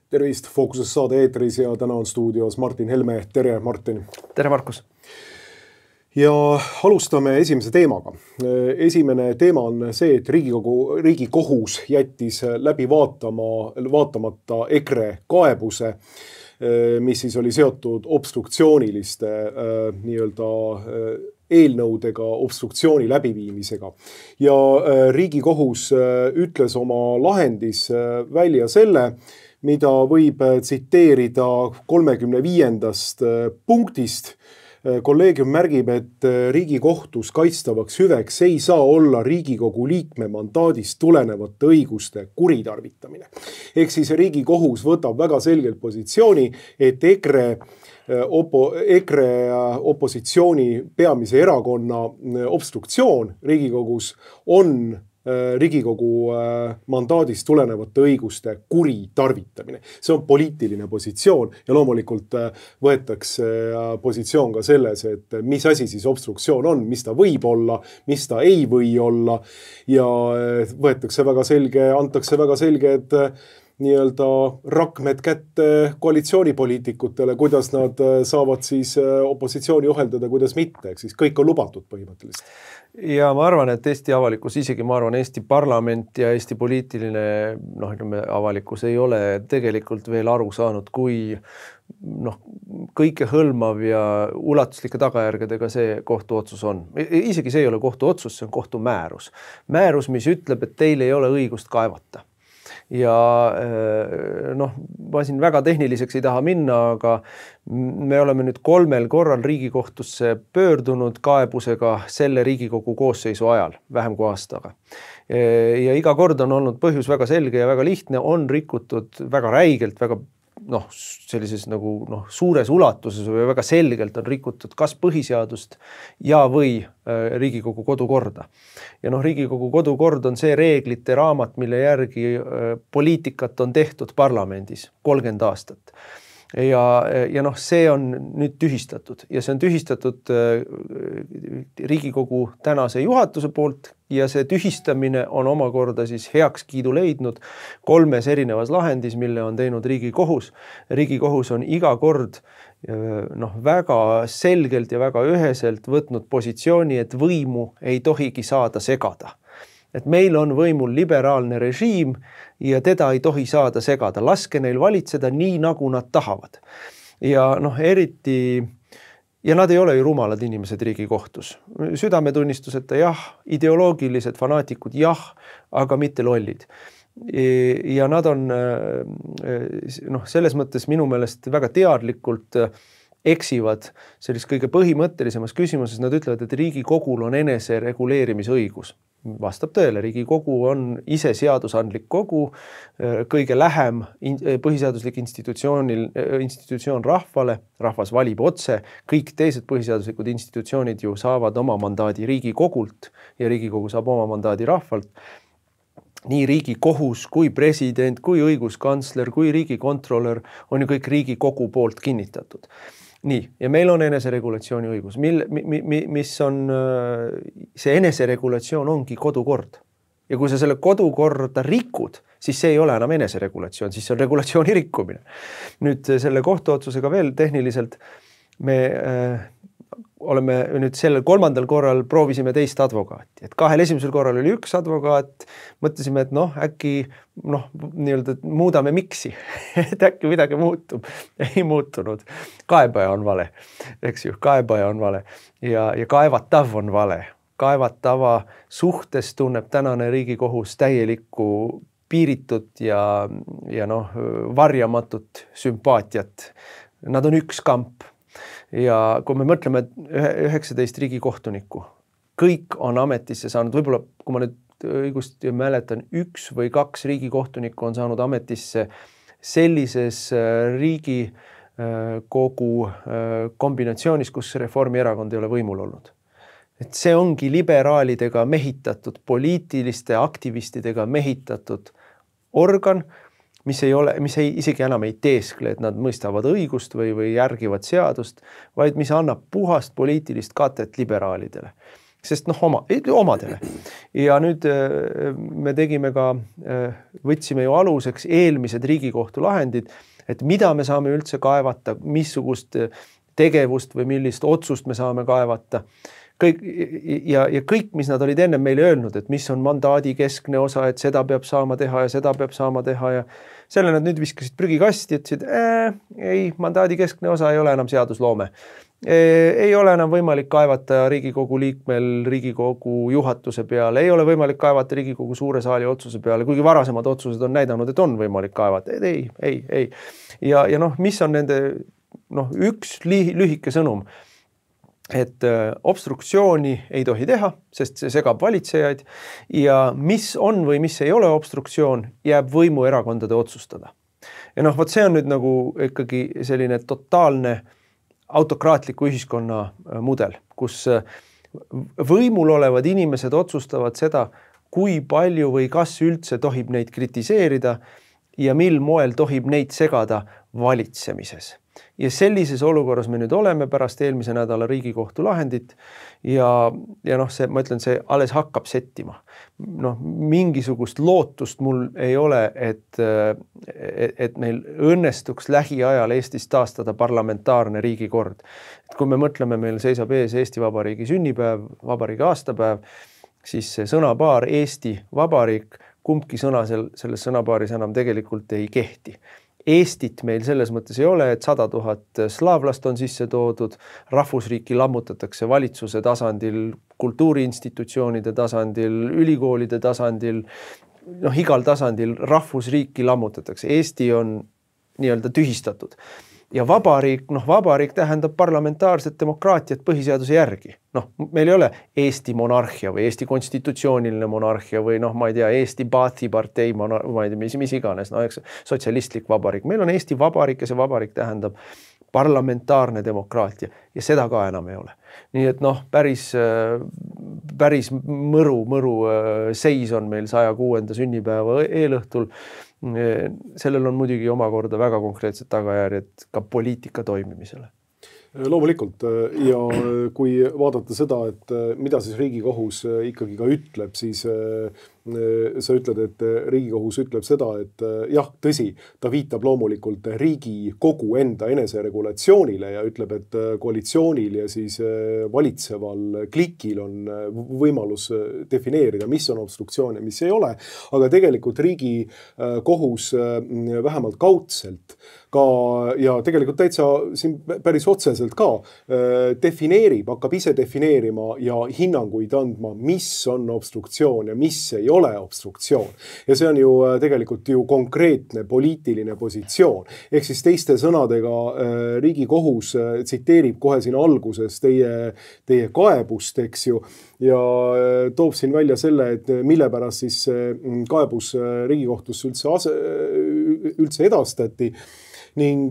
Tervist, Fookuses saade eetris ja täna on stuudios Martin Helme. Tere, Martin. Tere, Markus. Ja alustame esimese teemaga. Esimene teema on see, et Riigikohus jättis läbi vaatamata EKRE kaebuse, mis siis oli seotud obstruktsiooniliste eelnõudega, obstruktsiooni läbiviimisega. Ja Riigikohus ütles oma lahendis välja selle, mida võib tsiteerida 35. punktist. Kolleegium märgib, et Riigikohtus kaitstavaks hüveks ei saa olla Riigikogu liikme mandaadist tulenevate õiguste kuritarvitamine. Ehk siis Riigikohus võtab väga selgelt positsiooni, et EKRE opositsiooni peamise erakonna obstruktsioon Riigikogus on Riigikogu mandaadist tulenevate õiguste kuritarvitamine. See on poliitiline positsioon ja loomulikult võetakse positsioon ka selles, et mis asi siis obstruktsioon on, mis ta võib olla, mis ta ei või olla ja antakse väga selged rakmed kätte koalitsioonipoliitikutele, kuidas nad saavad siis opositsiooni ohjeldada, kuidas mitte. Ehk siis kõik on lubatud põhimõtteliselt. Ja ma arvan, et Eesti avalikkus, isegi ma arvan Eesti parlament ja Eesti poliitiline avalikkus ei ole tegelikult veel aru saanud, kui kõike hõlmav ja ulatuslike tagajärgedega see kohtuotsus on. Isegi see ei ole kohtuotsus, see on kohtumäärus. Määrus, mis ütleb, et teil ei ole õigust kaevata. Ja ma siin väga tehniliseks ei taha minna, aga me oleme nüüd 3 korral Riigikohtusse pöördunud kaebusega selle Riigikogu koosseisu ajal, vähem kui aastaga. Ja iga kord on olnud põhjus väga selge ja väga lihtne, on rikutud väga räigelt, väga sellises suures ulatuses või väga selgelt on rikutud kas põhiseadust ja või Riigikogu kodukorda. Ja Riigikogu kodukord on see reeglite raamat, mille järgi poliitikat on tehtud parlamendis 30 aastat. Ja see on nüüd tühistatud ja see on tühistatud Riigikogu tänase juhatuse poolt ja see tühistamine on omakorda siis heakskiidu leidnud 3 erinevas lahendis, mille on teinud Riigikohus. Riigikohus on iga kord väga selgelt ja väga üheselt võtnud positsiooni, et võimu ei tohigi saada segada. Et meil on võimul liberaalne režiim ja teda ei tohi saada segada. Laske neil valitseda nii, nagu nad tahavad. Ja eriti, ja nad ei ole ju rumalad inimesed Riigikohtus. Südametunnistuseta jah, ideoloogilised fanaatikud jah, aga mitte lollid. Ja nad on selles mõttes minu meelest väga teadlikult eksivad selles kõige põhimõttelisemas küsimuses. Nad ütlevad, et Riigikogul on enese reguleerimisõigus. Vastab tõele, Riigikogu on ise seadusandlik kogu, kõige lähem põhiseaduslik institutsioon rahvale, rahvas valib otse, kõik teised põhiseaduslikud institutsioonid ju saavad oma mandaadi Riigikogult ja Riigikogu saab oma mandaadi rahvalt. Nii Riigikohus kui president, kui õiguskantsler, kui riigikontrolör on ju kõik Riigikogu poolt kinnitatud. Nii, ja meil on eneseregulatsiooni õigus, mis on, see eneseregulatsioon ongi kodukord. Ja kui sa selle kodukorda rikud, siis see ei ole enam eneseregulatsioon, siis see on regulatsiooni rikkumine. Nüüd selle kohtuotsusega veel tehniliselt me oleme nüüd sellel 3. korral proovisime teist advokaati. Et 2 esimesel korral oli 1 advokaat, mõtlesime, et äkki muudame miksi, et äkki midagi muutub. Ei muutunud. Kaebaja on vale, eks ju, kaebaja on vale ja kaevatav on vale. Kaevatava suhtes tunneb tänane Riigikohus täielikku piiritut ja varjamatut sümpaatiat. Nad on üks kamp. Ja kui me mõtleme 19 riigikohtunikku, kõik on ametisse saanud, võib-olla kui ma nüüd õigust mäletan, 1 või 2 riigikohtunikku on saanud ametisse sellises Riigikogu kombinatsioonis, kus Reformierakond ei ole võimul olnud. Et see ongi liberaalidega mehitatud, poliitiliste aktivistidega mehitatud organ, mis isegi enam ei teeskle, et nad mõistavad õigust või järgivad seadust, vaid mis annab puhast poliitilist katet liberaalidele. sest omadele. Ja nüüd me tegime ka, võtsime ju aluseks eelmised Riigikohtu lahendid, et mida me saame üldse kaevata, missugust tegevust või millist otsust me saame kaevata. Ja kõik, mis nad olid enne meile öelnud, et mis on mandaadi keskne osa, et seda peab saama teha ja seda peab saama teha ja selle nad nüüd viskasid prügikasti, ütlesid, ei, mandaadi keskne osa ei ole enam seadusloome. Ei ole enam võimalik kaevata Riigikogu liikmel Riigikogu juhatuse peale, ei ole võimalik kaevata Riigikogu suure saali otsuse peale, kuigi varasemad otsused on näidanud, et on võimalik kaevata. Ei. Ja mis on nende üks lühike sõnum, et obstruktsiooni ei tohi teha, sest see segab valitsejaid ja mis on või mis ei ole obstruktsioon, jääb võimuerakondade otsustada. Ja vot see on nüüd nagu ikkagi selline totaalne autokraatliku ühiskonna mudel, kus võimul olevad inimesed otsustavad seda, kui palju või kas üldse tohib neid kritiseerida ja mil moel tohib neid segada valitsemises. Ja sellises olukorras me nüüd oleme pärast eelmise nädala Riigikohtu lahendit ja see, ma ütlen, see alles hakkab settima. Mingisugust lootust mul ei ole, et meil õnnestuks lähiajal Eestis taastada parlamentaarne riigikord. Et kui me mõtleme, meil seisab ees Eesti Vabariigi sünnipäev, vabariigi aastapäev, siis see sõnapaar Eesti Vabariik, kumbki sõna selles sõnapaaris enam tegelikult ei kehti. Eestit meil selles mõttes ei ole, et 100 000 slaavlast on sisse toodud, rahvusriiki lammutatakse valitsuse tasandil, kultuuriinstitutsioonide tasandil, ülikoolide tasandil, igal tasandil rahvusriiki lammutatakse. Eesti on nii-öelda tühistatud. Ja vabariik tähendab parlamentaarset demokraatiat põhiseaduse järgi. Meil ei ole Eesti monarhia või Eesti konstitutsiooniline monarhia või ma ei tea, Eesti Baathi partei, ma ei tea, mis iganes, sotsialistlik vabariik. Meil on Eesti vabariik ja see vabariik tähendab parlamentaarne demokraatia ja seda ka enam ei ole. Nii et päris mõru seis on meil 106. sünnipäeva eelõhtul. Sellel on muidugi omakorda väga konkreetsed tagajärjed ka poliitika toimimisele. Loomulikult ja kui vaadata seda, et mida siis Riigikohus ikkagi ka ütleb, siis sa ütled, et Riigikohus ütleb seda, et jah, tõsi, ta viitab loomulikult Riigikogu enda eneseregulatsioonile ja ütleb, et koalitsioonil ja siis valitseval klikil on võimalus defineerida, mis on obstruktsioon ja mis ei ole, aga tegelikult Riigikohus vähemalt kaudselt ka ja tegelikult täitsa siin päris otseselt ka hakkab ise defineerima ja hinnanguid andma, mis on obstruktsioon ja mis ei ole obstruktsioon. Ja see on ju tegelikult ju konkreetne poliitiline positsioon. Ehk siis teiste sõnadega Riigikohus tsiteerib kohe siin alguses teie kaebust, eks ju, ja toob siin välja selle, et mille pärast siis kaebus Riigikohtusse üldse edastati. Ning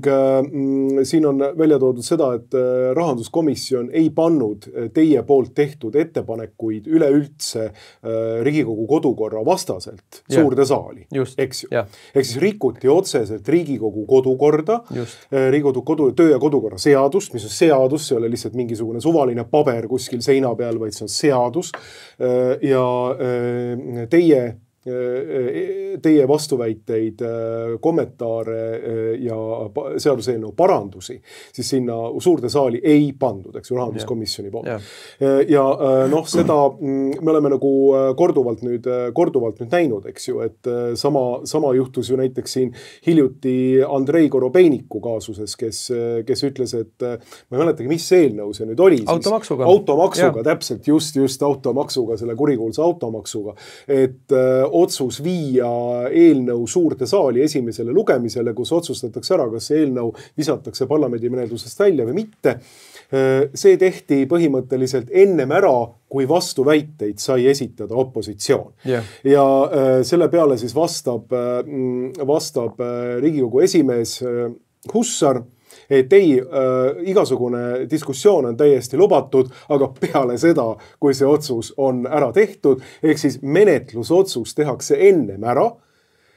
siin on välja toodud seda, et rahanduskomisjon ei pannud teie poolt tehtud ettepanekuid üleüldse Riigikogu kodukorra vastaselt suurde saali. Eks ju. Ehk siis rikuti otseselt Riigikogu kodukorda, Riigikogu töö- ja kodukorra seadust, mis on seadus, see ei ole lihtsalt mingisugune suvaline paber kuskil seina peal, vaid see on seadus ja teie vastuväiteid, kommentaare ja seaduseelnõu parandusi, siis sinna suurde saali ei pandud, eks ju, rahanduskomisjoni poolt. Ja seda me oleme nagu korduvalt nüüd näinud, eks ju, et sama juhtus ju näiteks siin hiljuti Andrei Korobeiniku kaasuses, kes ütles, et ma ei mäletagi, mis eelnõu see nüüd oli. Automaksuga, täpselt, just automaksuga, selle kurikuulsa automaksuga, et otsus viia eelnõu suurde saali esimesele lugemisele, kus otsustatakse ära, kas see eelnõu visatakse parlamendi menetlusest välja või mitte. See tehti põhimõtteliselt ennem ära, kui vastuväiteid sai esitada opositsioon. Ja selle peale siis vastab Riigikogu esimees Hussar, et igasugune diskussioon on täiesti lubatud, aga peale seda, kui see otsus on ära tehtud, ehk siis menetlusotsus tehakse ennem ära,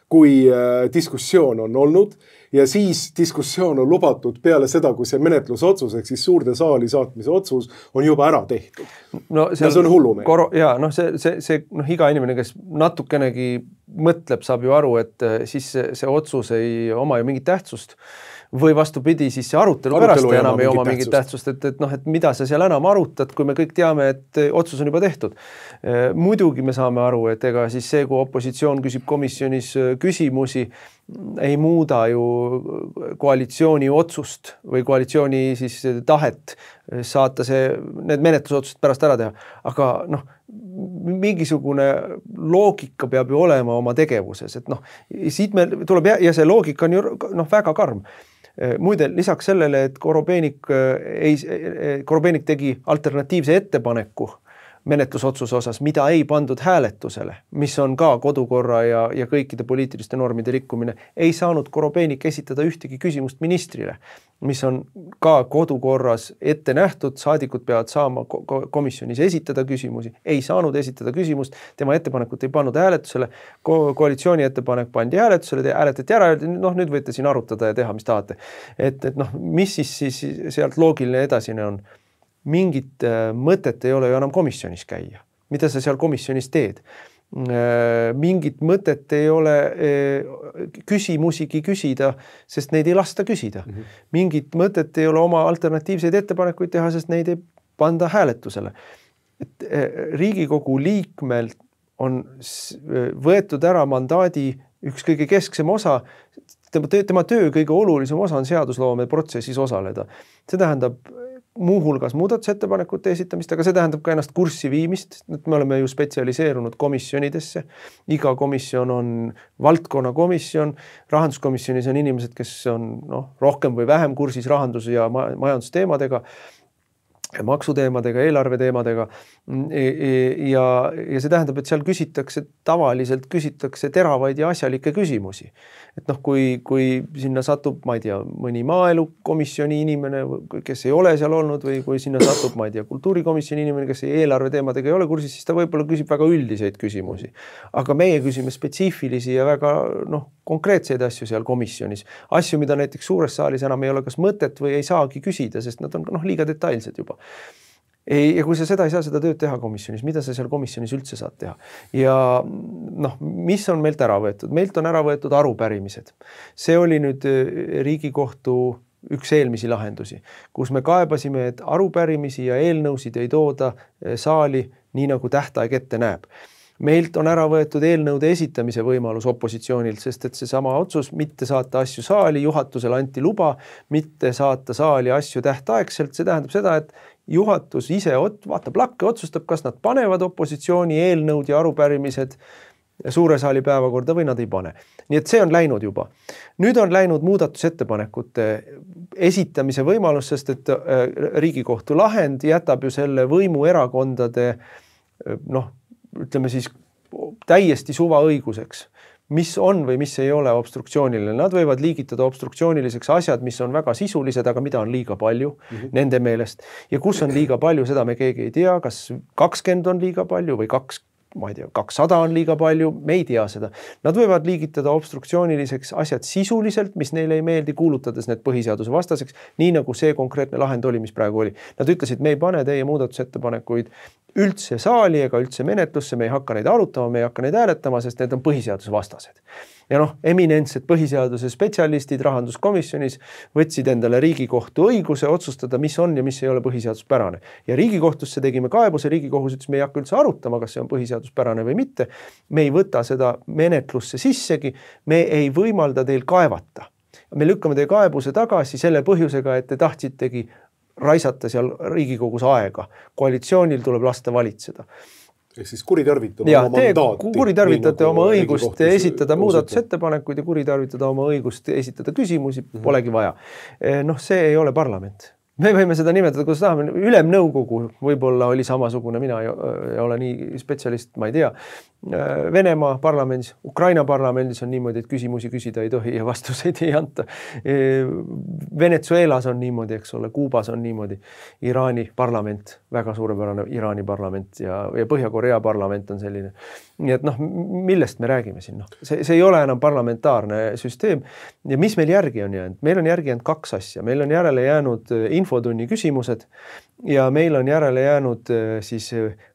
kui diskussioon on olnud ja siis diskussioon on lubatud peale seda, kui see menetlusotsus ehk siis suurde saali saatmise otsus on juba ära tehtud. No see on hullumeelne. Jaa, noh see iga inimene, kes natukenegi mõtleb, saab ju aru, et siis see otsus ei oma ju mingit tähtsust. Või vastupidi, siis see arutelu pärast enam ei oma mingit tähtsust, et mida sa seal enam arutad, kui me kõik teame, et otsus on juba tehtud. Muidugi me saame aru, et ega siis see, kui opositsioon küsib komisjonis küsimusi, ei muuda ju koalitsiooni otsust või koalitsiooni siis tahet saata need menetlusotsused pärast ära teha. Aga mingisugune loogika peab ju olema oma tegevuses, et siit meil tuleb ja see loogika on ju väga karm. Muide, lisaks sellele, et Korobeinik tegi alternatiivse ettepaneku menetlusotsuse osas, mida ei pandud hääletusele, mis on ka kodukorra ja kõikide poliitiliste normide rikkumine, ei saanud Korobeinik esitada ühtegi küsimust ministrile, mis on ka kodukorras ette nähtud, saadikud peavad saama komisjonis esitada küsimusi, ei saanud esitada küsimust, tema ettepanekut ei pannud hääletusele, koalitsiooni ettepanek pandi hääletusele, hääletati ära, nüüd võite siin arutada ja teha, mis tahate. Et mis siis sealt loogiline edasine on? Mingit mõtet ei ole ju enam komisjonis käia. Mida sa seal komisjonis teed? Mingit mõtet ei ole küsimusigi küsida, sest neid ei lasta küsida. Mingit mõtet ei ole oma alternatiivseid ettepanekuid teha, sest neid ei panda hääletusele. Riigikogu liikmel on võetud ära mandaadi üks kõige kesksem osa, tema töö kõige olulisem osa on seadusloome protsessis osaleda. See tähendab muuhulgas muudatusettepanekute esitamist, aga see tähendab ka ennast kurssi viimist, et me oleme ju spetsialiseerunud komisjonidesse. Iga komisjon on valdkonnakomisjon, rahanduskomisjonis on inimesed, kes on rohkem või vähem kursis rahandus- ja majandusteemadega, maksuteemadega, eelarveteemadega ja see tähendab, et seal tavaliselt küsitakse teravaid ja asjalikke küsimusi. Et kui sinna satub, ma ei tea, mõni maaelukomisjoni inimene, kes ei ole seal olnud või kui sinna satub, ma ei tea, kultuurikomisjoni inimene, kes eelarveteemadega ei ole kursis, siis ta võib-olla küsib väga üldiseid küsimusi. Aga meie küsime spetsiifilisi ja väga konkreetseid asju seal komisjonis. Asju, mida näiteks suures saalis enam ei ole kas mõtet või ei saagi küsida, sest nad on liiga detailsed juba. Ja kui sa seda ei saa seda tööd teha komisjonis, mida sa seal komisjonis üldse saad teha? Ja mis on meilt ära võetud? Meilt on ära võetud arupärimised. See oli nüüd Riigikohtu üks eelmisi lahendusi, kus me kaebasime, et arupärimisi ja eelnõusid ei tooda saali nii nagu tähtaeg ette näeb. Meilt on ära võetud eelnõude esitamise võimalus opositsioonilt, sest et seesama otsus mitte saata asju saali, juhatusele anti luba, mitte saata saali asju tähtaegselt, see tähendab seda, et juhatus ise vaatab lakke, otsustab, kas nad panevad opositsiooni eelnõud ja arupärimised suure saali päevakorda või nad ei pane. Nii et see on läinud juba. Nüüd on läinud muudatusettepanekute esitamise võimalus, sest et Riigikohtu lahend jätab ju selle võimuerakondade ütleme siis täiesti suvaõiguseks, mis on või mis ei ole obstruktsiooniline. Nad võivad liigitada obstruktsiooniliseks asjad, mis on väga sisulised, aga mida on liiga palju nende meelest. Ja kus on liiga palju, seda me keegi ei tea, kas 20 on liiga palju või 200 on liiga palju, me ei tea seda. Nad võivad liigitada obstruktsiooniliseks asjad sisuliselt, mis neile ei meeldi, kuulutades need põhiseaduse vastaseks, nii nagu see konkreetne lahend oli, mis praegu oli. Nad ütlesid, me ei pane teie muudatusettepanekuid üldse saali ega üldse menetlusse, me ei hakka neid arutama, me ei hakka neid hääletama, sest need on põhiseaduse vastased. Ja eminentsed põhiseaduse spetsialistid rahanduskomisjonis võtsid endale Riigikohtu õiguse otsustada, mis on ja mis ei ole põhiseaduspärane. Ja Riigikohtusse tegime kaebuse, Riigikohus ütles, me ei hakka üldse arutama, kas see on põhiseaduspärane või mitte. Me ei võta seda menetlusse sissegi, me ei võimalda teil kaevata. Me lükkame teie kaebuse tagasi selle põhjusega, et te tahtsitegi raisata seal Riigikogus aega. Koalitsioonil tuleb lasta valitseda. Ehk siis kuritarvitada oma mandaati. Kuritarvitate oma õigust esitada muudatusettepanekuid ja kuritarvitada oma õigust esitada küsimusi, polegi vaja. See ei ole parlament. Me võime seda nimetada, kuidas tahame, ülemnõukogu võib-olla oli samasugune, mina ei ole nii spetsialist, ma ei tea. Venemaa parlamendis, Ukraina parlamendis on niimoodi, et küsimusi küsida ei tohi ja vastuseid ei anta. Venezuelas on niimoodi, eks ole, Kuubas on niimoodi. Iraani parlament, väga suurepärane Iraani parlament ja Põhja-Korea parlament on selline. Nii et millest me räägime siin? See ei ole enam parlamentaarne süsteem. Ja mis meil järgi on jäänud? Meil on järgi jäänud 2 asja. Meil on järele jäänud infotunni küsimused ja meil on järele jäänud siis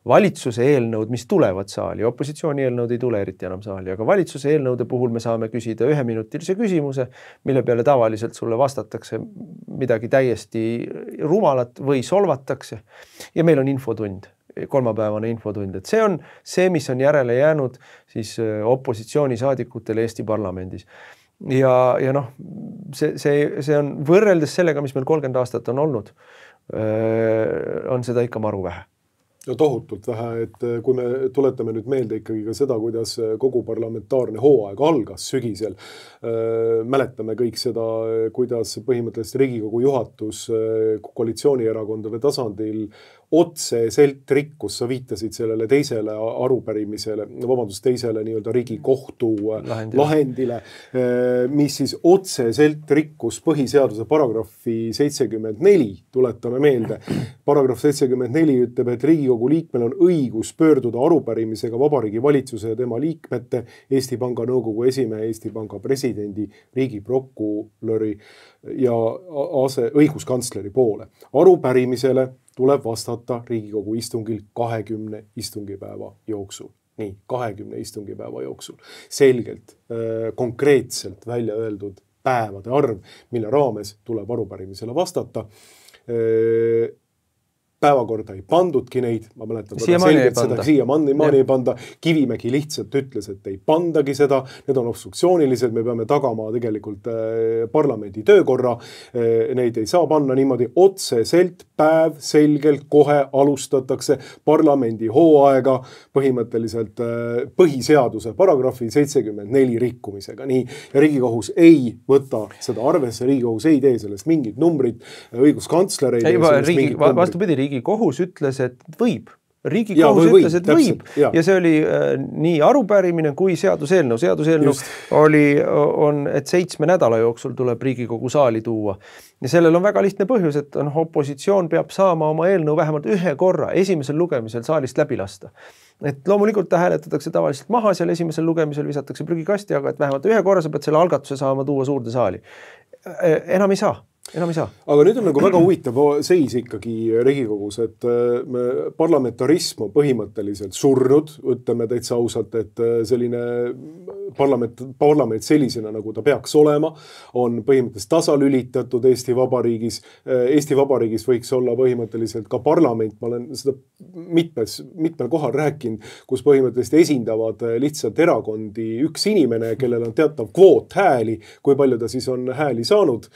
valitsuse eelnõud, mis tulevad saali. Opositsiooni eelnõud ei tule eriti enam saali, aga valitsuse eelnõude puhul me saame küsida 1-minutilise küsimuse, mille peale tavaliselt sulle vastatakse midagi täiesti rumalat või solvatakse. Ja meil on infotund, kolmapäevane infotund. Et see on see, mis on järele jäänud siis opositsioonisaadikutel Eesti parlamendis. Ja see on võrreldes sellega, mis meil 30 aastat on olnud, on seda ikka maru vähe. No tohutult vähe, et kui me tuletame nüüd meelde ikkagi ka seda, kuidas kogu parlamentaarne hooaeg algas sügisel, mäletame kõik seda, kuidas põhimõtteliselt Riigikogu juhatus koalitsioonierakondade tasandil otseselt rikkus, sa viitasid sellele teisele arupärimisele, teisele nii-öelda Riigikohtu lahendile, mis siis otseselt rikkus põhiseaduse paragrahvi 74, tuletame meelde. Paragrahv 74 ütleb, et Riigikogu liikmel on õigus pöörduda arupärimisega Vabariigi Valitsuse ja tema liikmete, Eesti Panga Nõukogu esimehe, Eesti Panga presidendi, riigiprokuröri ja õiguskantsleri poole. Arupärimisele tuleb vastata Riigikogu istungil 20 istungipäeva jooksul. Nii, 20 istungipäeva jooksul. Selgelt, konkreetselt välja öeldud päevade arv, mille raames tuleb arupärimisele vastata. Päevakorda ei pandudki neid, ma mäletan siiamaani ei panda. Kivimägi lihtsalt ütles, et ei pandagi seda, need on obstruktsioonilised, me peame tagama tegelikult parlamendi töökorra, neid ei saa panna niimoodi otseselt, päev selgelt kohe alustatakse parlamendi hooaega põhimõtteliselt põhiseaduse paragrahvi 74 rikkumisega. Nii, ja Riigikohus ei võta seda arvesse, Riigikohus ei tee sellest mingit numbrit, õiguskantsler ei tee sellest mingit numbrit. Vastupidi, Riigikohus ütles, et võib. Riigikohus ütles, et võib. Ja see oli nii arupärimine kui seaduseelnõu. Seaduseelnõu on, et 7 nädala jooksul tuleb Riigikogu saali tuua. Ja sellel on väga lihtne põhjus, et opositsioon peab saama oma eelnõu vähemalt 1 korra esimesel lugemisel saalist läbi lasta. Et loomulikult ta hääletatakse tavaliselt maha, seal esimesel lugemisel visatakse prügikasti, aga et vähemalt 1 korra sa pead selle algatuse saama tuua suurde saali. Enam ei saa. Aga nüüd on nagu väga huvitav seis ikkagi Riigikogus, et parlamentarism on põhimõtteliselt surnud, ütleme täitsa ausalt, et selline parlament sellisena, nagu ta peaks olema, on põhimõtteliselt tasalülitatud Eesti Vabariigis. Eesti Vabariigis võiks olla põhimõtteliselt ka parlament, ma olen seda mitmel kohal rääkinud, kus põhimõtteliselt esindavad lihtsalt erakondi üks inimene, kellel on teatav kvoot hääli, kui palju ta siis on hääli saanud,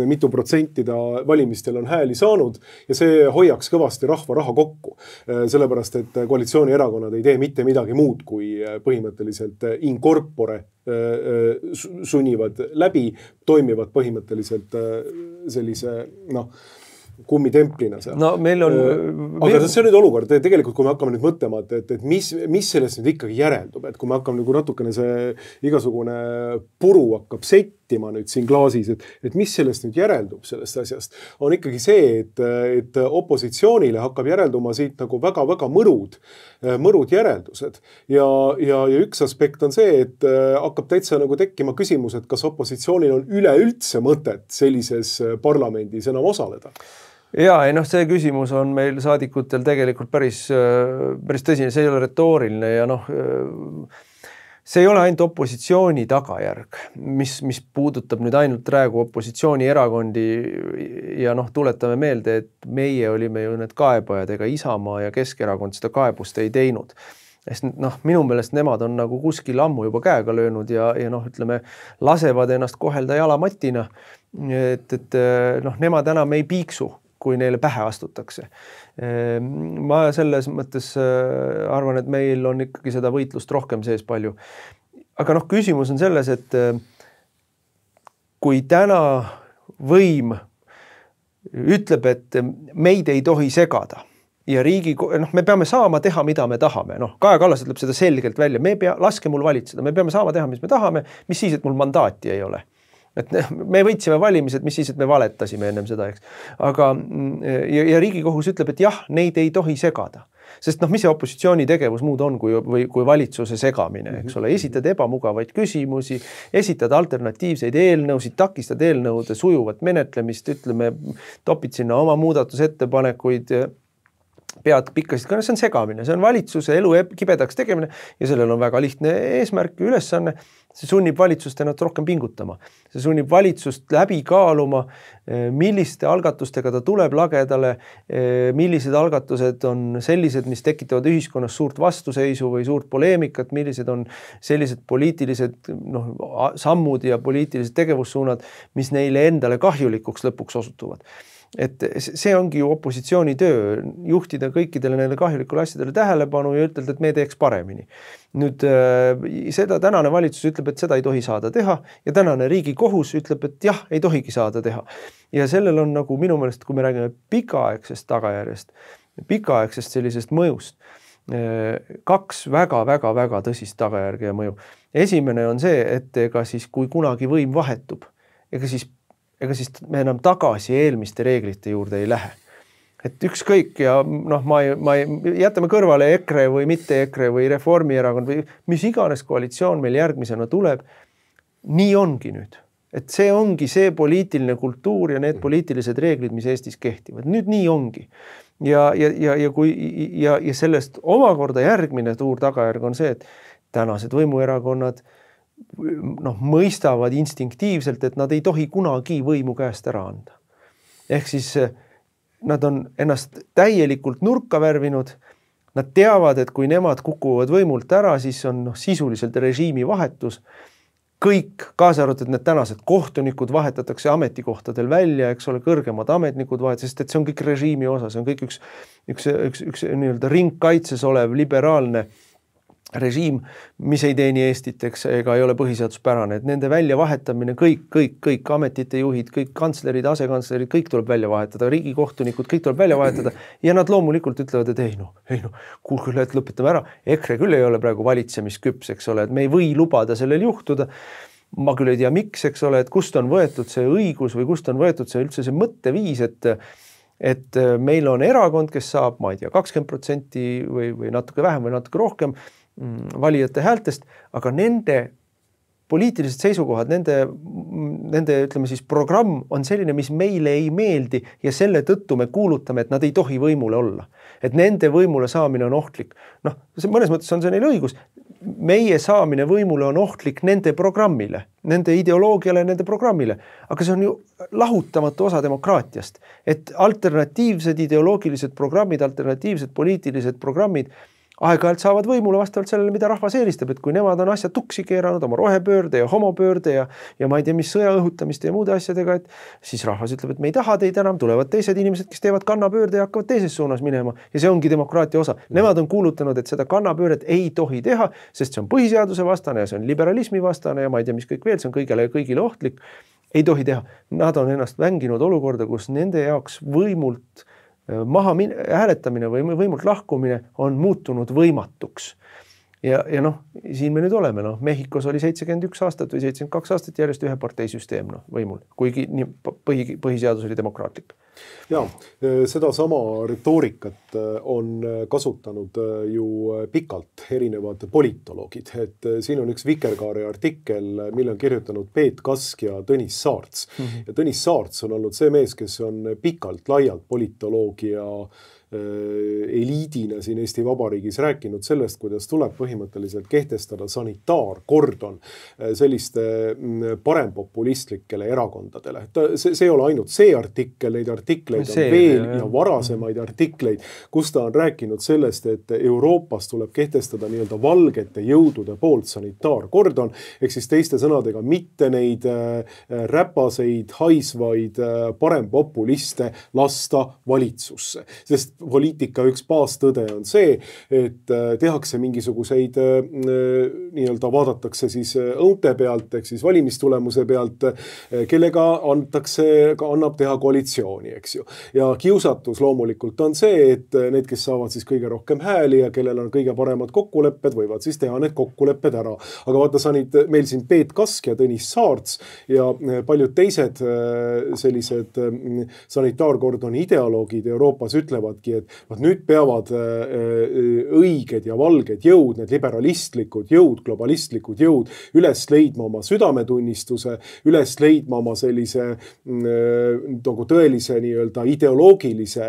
mitu protsenti ta valimistel on hääli saanud ja see hoiaks kõvasti rahva raha kokku. Sellepärast, et koalitsioonierakonnad ei tee mitte midagi muud, kui põhimõtteliselt in corpore sunnivad läbi, toimivad põhimõtteliselt sellise, kummitemplina seal. No meil on... Aga see on nüüd olukord, tegelikult kui me hakkame nüüd mõtlema, et mis sellest nüüd ikkagi järeldub, et kui me hakkame nagu natukene see igasugune puru hakkab settima nüüd siin klaasis, et mis sellest nüüd järeldub sellest asjast, on ikkagi see, et opositsioonile hakkab järelduma siit nagu väga-väga mõrud järeldused. Ja üks aspekt on see, et hakkab täitsa nagu tekkima küsimus, et kas opositsioonil on üleüldse mõtet sellises parlamendis enam osaleda. Ja see küsimus on meil saadikutel tegelikult päris tõsine, see ei ole retooriline ja see ei ole ainult opositsiooni tagajärg, mis puudutab nüüd ainult praegu opositsioonierakondi ja tuletame meelde, et meie olime ju need kaebajad, ega Isamaa ja Keskerakond seda kaebust ei teinud. Minu meelest nemad on nagu kuskil ammu juba käega löönud ja ütleme, lasevad ennast kohelda jalamatina, et nemad enam ei piiksu, kui neile pähe astutakse. Ma selles mõttes arvan, et meil on ikkagi seda võitlust rohkem sees palju. Aga küsimus on selles, et kui täna võim ütleb, et meid ei tohi segada. Ja me peame saama teha, mida me tahame. Kaja Kallas ütleb seda selgelt välja. Laske mul valitseda. Me peame saama teha, mis me tahame. Mis siis, et mul mandaati ei ole. Et me võitsime valimised, mis siis, et me valetasime ennem seda, eks. Aga ja Riigikohus ütleb, et jah, neid ei tohi segada. Sest mis see opositsiooni tegevus muud on kui valitsuse segamine, eks ole, esitad ebamugavaid küsimusi, esitad alternatiivseid eelnõusid, takistad eelnõude sujuvat menetlemist, ütleme, topid sinna oma muudatusettepanekuid, pead pikkasid, see on segamine, see on valitsuse elu kibedaks tegemine ja sellel on väga lihtne eesmärk, ülesanne, see sunnib valitsust ennast rohkem pingutama. See sunnib valitsust läbi kaaluma, milliste algatustega ta tuleb lagedale, millised algatused on sellised, mis tekitavad ühiskonnas suurt vastuseisu või suurt poleemikat, millised on sellised poliitilised sammud ja poliitilised tegevussuunad, mis neile endale kahjulikuks lõpuks osutuvad. Et see ongi ju opositsiooni töö, juhtida kõikidele neile kahjulikule asjadele tähelepanu ja ütelda, et me teeks paremini. Nüüd seda tänane valitsus ütleb, et seda ei tohi saada teha ja tänane Riigikohus ütleb, et jah, ei tohigi saada teha. Ja sellel on nagu minu meelest, kui me räägime pikaaegsest tagajärjest, pikaaegsest sellisest mõjust, kaks väga tõsist tagajärge ja mõju. Esimene on see, et ega siis kui kunagi võim vahetub, ega siis me enam tagasi eelmiste reeglite juurde ei lähe. Et ükskõik ja jätame kõrvale EKRE või mitte EKRE või Reformierakond või mis iganes koalitsioon meil järgmisena tuleb, nii ongi nüüd. Et see ongi see poliitiline kultuur ja need poliitilised reeglid, mis Eestis kehtivad. Nüüd nii ongi. Ja sellest omakorda järgmine suur tagajärg on see, et tänased võimuerakonnad mõistavad instinktiivselt, et nad ei tohi kunagi võimu käest ära anda. Ehk siis nad on ennast täielikult nurka värvinud, nad teavad, et kui nemad kukuvad võimult ära, siis on sisuliselt režiimi vahetus. Kõik, kaasa arvatud need tänased kohtunikud vahetatakse ametikohtadel välja, eks ole, kõrgemad ametnikud sest et see on kõik režiimi osa, see on kõik üks nii-öelda ringkaitses olev liberaalne režiim, mis ei teeni Eestit, ega ei ole põhiseaduspärane, et nende väljavahetamine, kõik ametite juhid, kõik kantslerid, asekantslerid, kõik tuleb välja vahetada, riigikohtunikud, kõik tuleb välja vahetada ja nad loomulikult ütlevad, et kuulge, et lõpetame ära, EKRE küll ei ole praegu valitsemisküps, eks ole, et me ei või lubada sellel juhtuda, ma küll ei tea miks, eks ole, et kust on võetud see õigus või kust on võetud see üldse see mõtteviis, et meil on erakond, kes saab, ma ei tea, 20% või natuke vähem või natuke rohkem valijate häältest, aga nende poliitilised seisukohad, nende ütleme siis programm on selline, mis meile ei meeldi ja selle tõttu me kuulutame, et nad ei tohi võimule olla. Et nende võimule saamine on ohtlik. Mõnes mõttes on see neil õigus. Meie saamine võimule on ohtlik nende programmile, nende ideoloogiale, nende programmile. Aga see on ju lahutamatu osa demokraatiast. Et alternatiivsed ideoloogilised programmid, alternatiivsed poliitilised programmid aeg-ajalt saavad võimule vastavalt sellele, mida rahvas eelistab, et kui nemad on asja tuksi keeranud oma rohepöörde ja homopöörde ja ma ei tea, mis sõja õhutamiste ja muude asjadega, et siis rahvas ütleb, et me ei taha teid enam, tulevad teised inimesed, kes teevad kannapöörde ja hakkavad teises suunas minema ja see ongi demokraatia osa. Nemad on kuulutanud, et seda kannapööret ei tohi teha, sest see on põhiseaduse vastane ja see on liberalismi vastane ja ma ei tea, mis kõik veel, see on kõigile ohtlik. Ei tohi teha. Nad on ennast vänginud olukorda, kus nende jaoks võimult hääletamine või võimult lahkumine on muutunud võimatuks. Ja siin me nüüd oleme, Mehhikos oli 71 aastat või 72 aastat järjest ühe parteisüsteem võimul, kuigi põhiseadus oli demokraatlik. Ja, seda sama retoorikat on kasutanud ju pikalt erinevad politoloogid, et siin on üks Vikerkaare artikkel, mille on kirjutanud Peet Kask ja Tõnis Saarts. Ja Tõnis Saarts on olnud see mees, kes on pikalt laialt politoloogia eliidina siin Eesti Vabariigis rääkinud sellest, kuidas tuleb põhimõtteliselt kehtestada sanitaarkordon selliste parempopulistlikele erakondadele. See ei ole ainult see artikkel, neid artikleid on veel ja varasemaid artikleid, kus ta on rääkinud sellest, et Euroopas tuleb kehtestada nii-öelda valgete jõudude poolt sanitaarkordon, ehk siis teiste sõnadega mitte neid räpaseid, haisvaid parempopuliste lasta valitsusse. Sest poliitika üks baastõde on see, et tehakse mingisuguseid nii-öelda vaadatakse siis õunte pealt, ehk siis valimistulemuse pealt, kellega annab teha koalitsiooni, eks ju. Ja kiusatus loomulikult on see, et need, kes saavad siis kõige rohkem hääli ja kellel on kõige paremad kokkulepped, võivad siis teha need kokkulepped ära. Aga vaata, sa nüüd meil siin Peet Kask ja Tõnis Saarts ja paljud teised sellised sanitaarkordoni ideoloogid Euroopas ütlevadki, et nüüd peavad õiged ja valged jõud, need liberalistlikud jõud, globalistlikud jõud üles leidma oma südametunnistuse, üles leidma oma sellise nagu tõelise nii-öelda ideoloogilise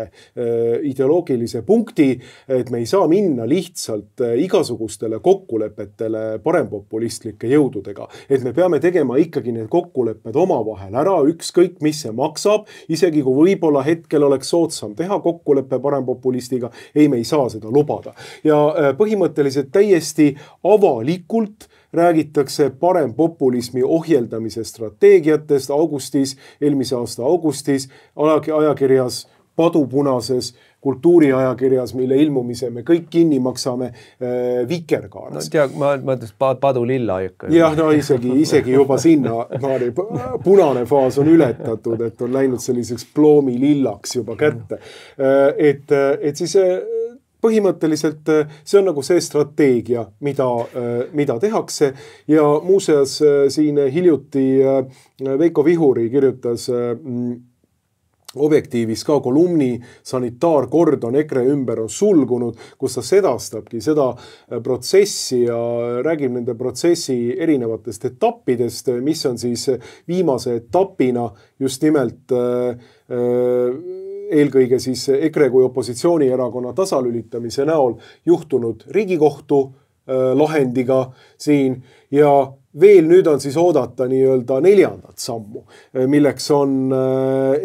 punkti, et me ei saa minna lihtsalt igasugustele kokkulepetele parempopulistlike jõududega. Et me peame tegema ikkagi need kokkulepped omavahel ära, ükskõik mis see maksab, isegi kui võib-olla hetkel oleks soodsam teha kokkuleppe parempopulistiga, ei, me ei saa seda lubada. Ja põhimõtteliselt täiesti avalikult räägitakse parempopulismi ohjeldamise strateegiatest eelmise aasta augustis, ajakirjas Padupunases, kultuuriajakirjas, mille ilmumise me kõik kinni maksame Vikerkaares. No, ma ütles Padu lilla ikka. Jah, no isegi juba sinna punane faas on ületatud, et on läinud selliseks ploomi lillaks juba kätte. Et siis põhimõtteliselt see on nagu see strateegia, mida tehakse ja muuseas siin hiljuti Veiko Vihuri kirjutas Objektiivis ka kolumni sanitaarkordon EKRE ümber on sulgunud, kus ta sedastabki seda protsessi ja räägib nende protsessi erinevatest etappidest, mis on siis viimase etapina just nimelt eelkõige siis EKRE kui opositsioonierakonna tasalülitamise näol juhtunud Riigikohtu lahendiga siin ja veel nüüd on siis oodata nii-öelda 4. sammu, milleks on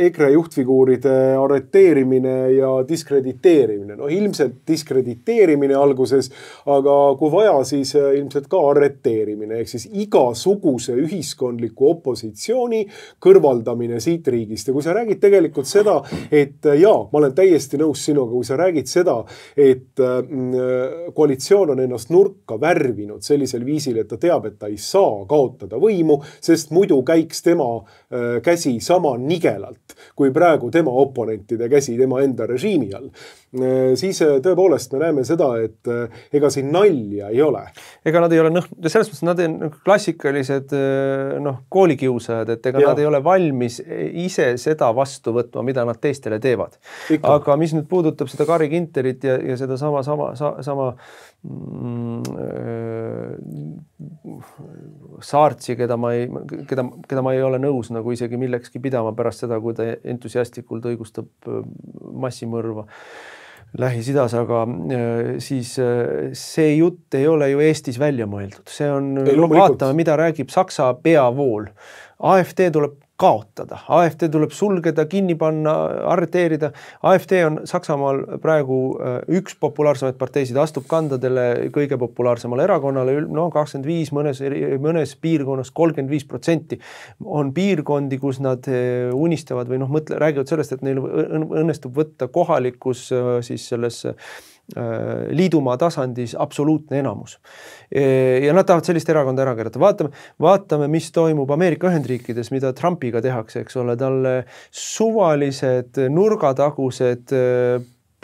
EKRE juhtfiguuride arreteerimine ja diskrediteerimine. No ilmselt diskrediteerimine alguses, aga kui vaja, siis ilmselt ka arreteerimine, ehk siis igasuguse ühiskondliku opositsiooni kõrvaldamine siit riigist. Ja kui sa räägid tegelikult seda, et ma olen täiesti nõus sinuga, kui sa räägid seda, et koalitsioon on ennast nurka värvinud sellisel viisil, et ta teab, et ta ei saa kaotada võimu, sest muidu käiks tema käsi sama nigelalt, kui praegu tema oponentide käsi tema enda režiimi all. Siis tõepoolest me näeme seda, et ega siin nalja ei ole. Ega nad ei ole, selles mõttes nad on klassikalised koolikiusajad, et ega nad ei ole valmis ise seda vastu võtma, mida nad teistele teevad. Aga mis nüüd puudutab seda Kari Ginterit ja seda sama Saartsi, keda ma ei ole nõus nagu isegi millekski pidama pärast seda, kui ta entusiastlikult õigustab massimõrva Lähis-Idas, aga siis see jutt ei ole ju Eestis välja mõeldud. See on, vaatame, mida räägib Saksa peavool. AfD tuleb kaotada. AfD tuleb sulgeda, kinni panna, arreteerida. AfD on Saksamaal praegu üks populaarsemaid parteisid, astub kandadele kõige populaarsemale erakonnale, 25, mõnes piirkonnas 35%. On piirkondi, kus nad unistavad või räägivad sellest, et neil õnnestub võtta kohalikus siis selles liidumaa tasandis absoluutne enamus. Ja nad tahavad sellist erakonda ära keerata. Vaatame, mis toimub Ameerika Ühendriikides, mida Trumpiga tehakse, eks ole, talle suvalised nurgatagused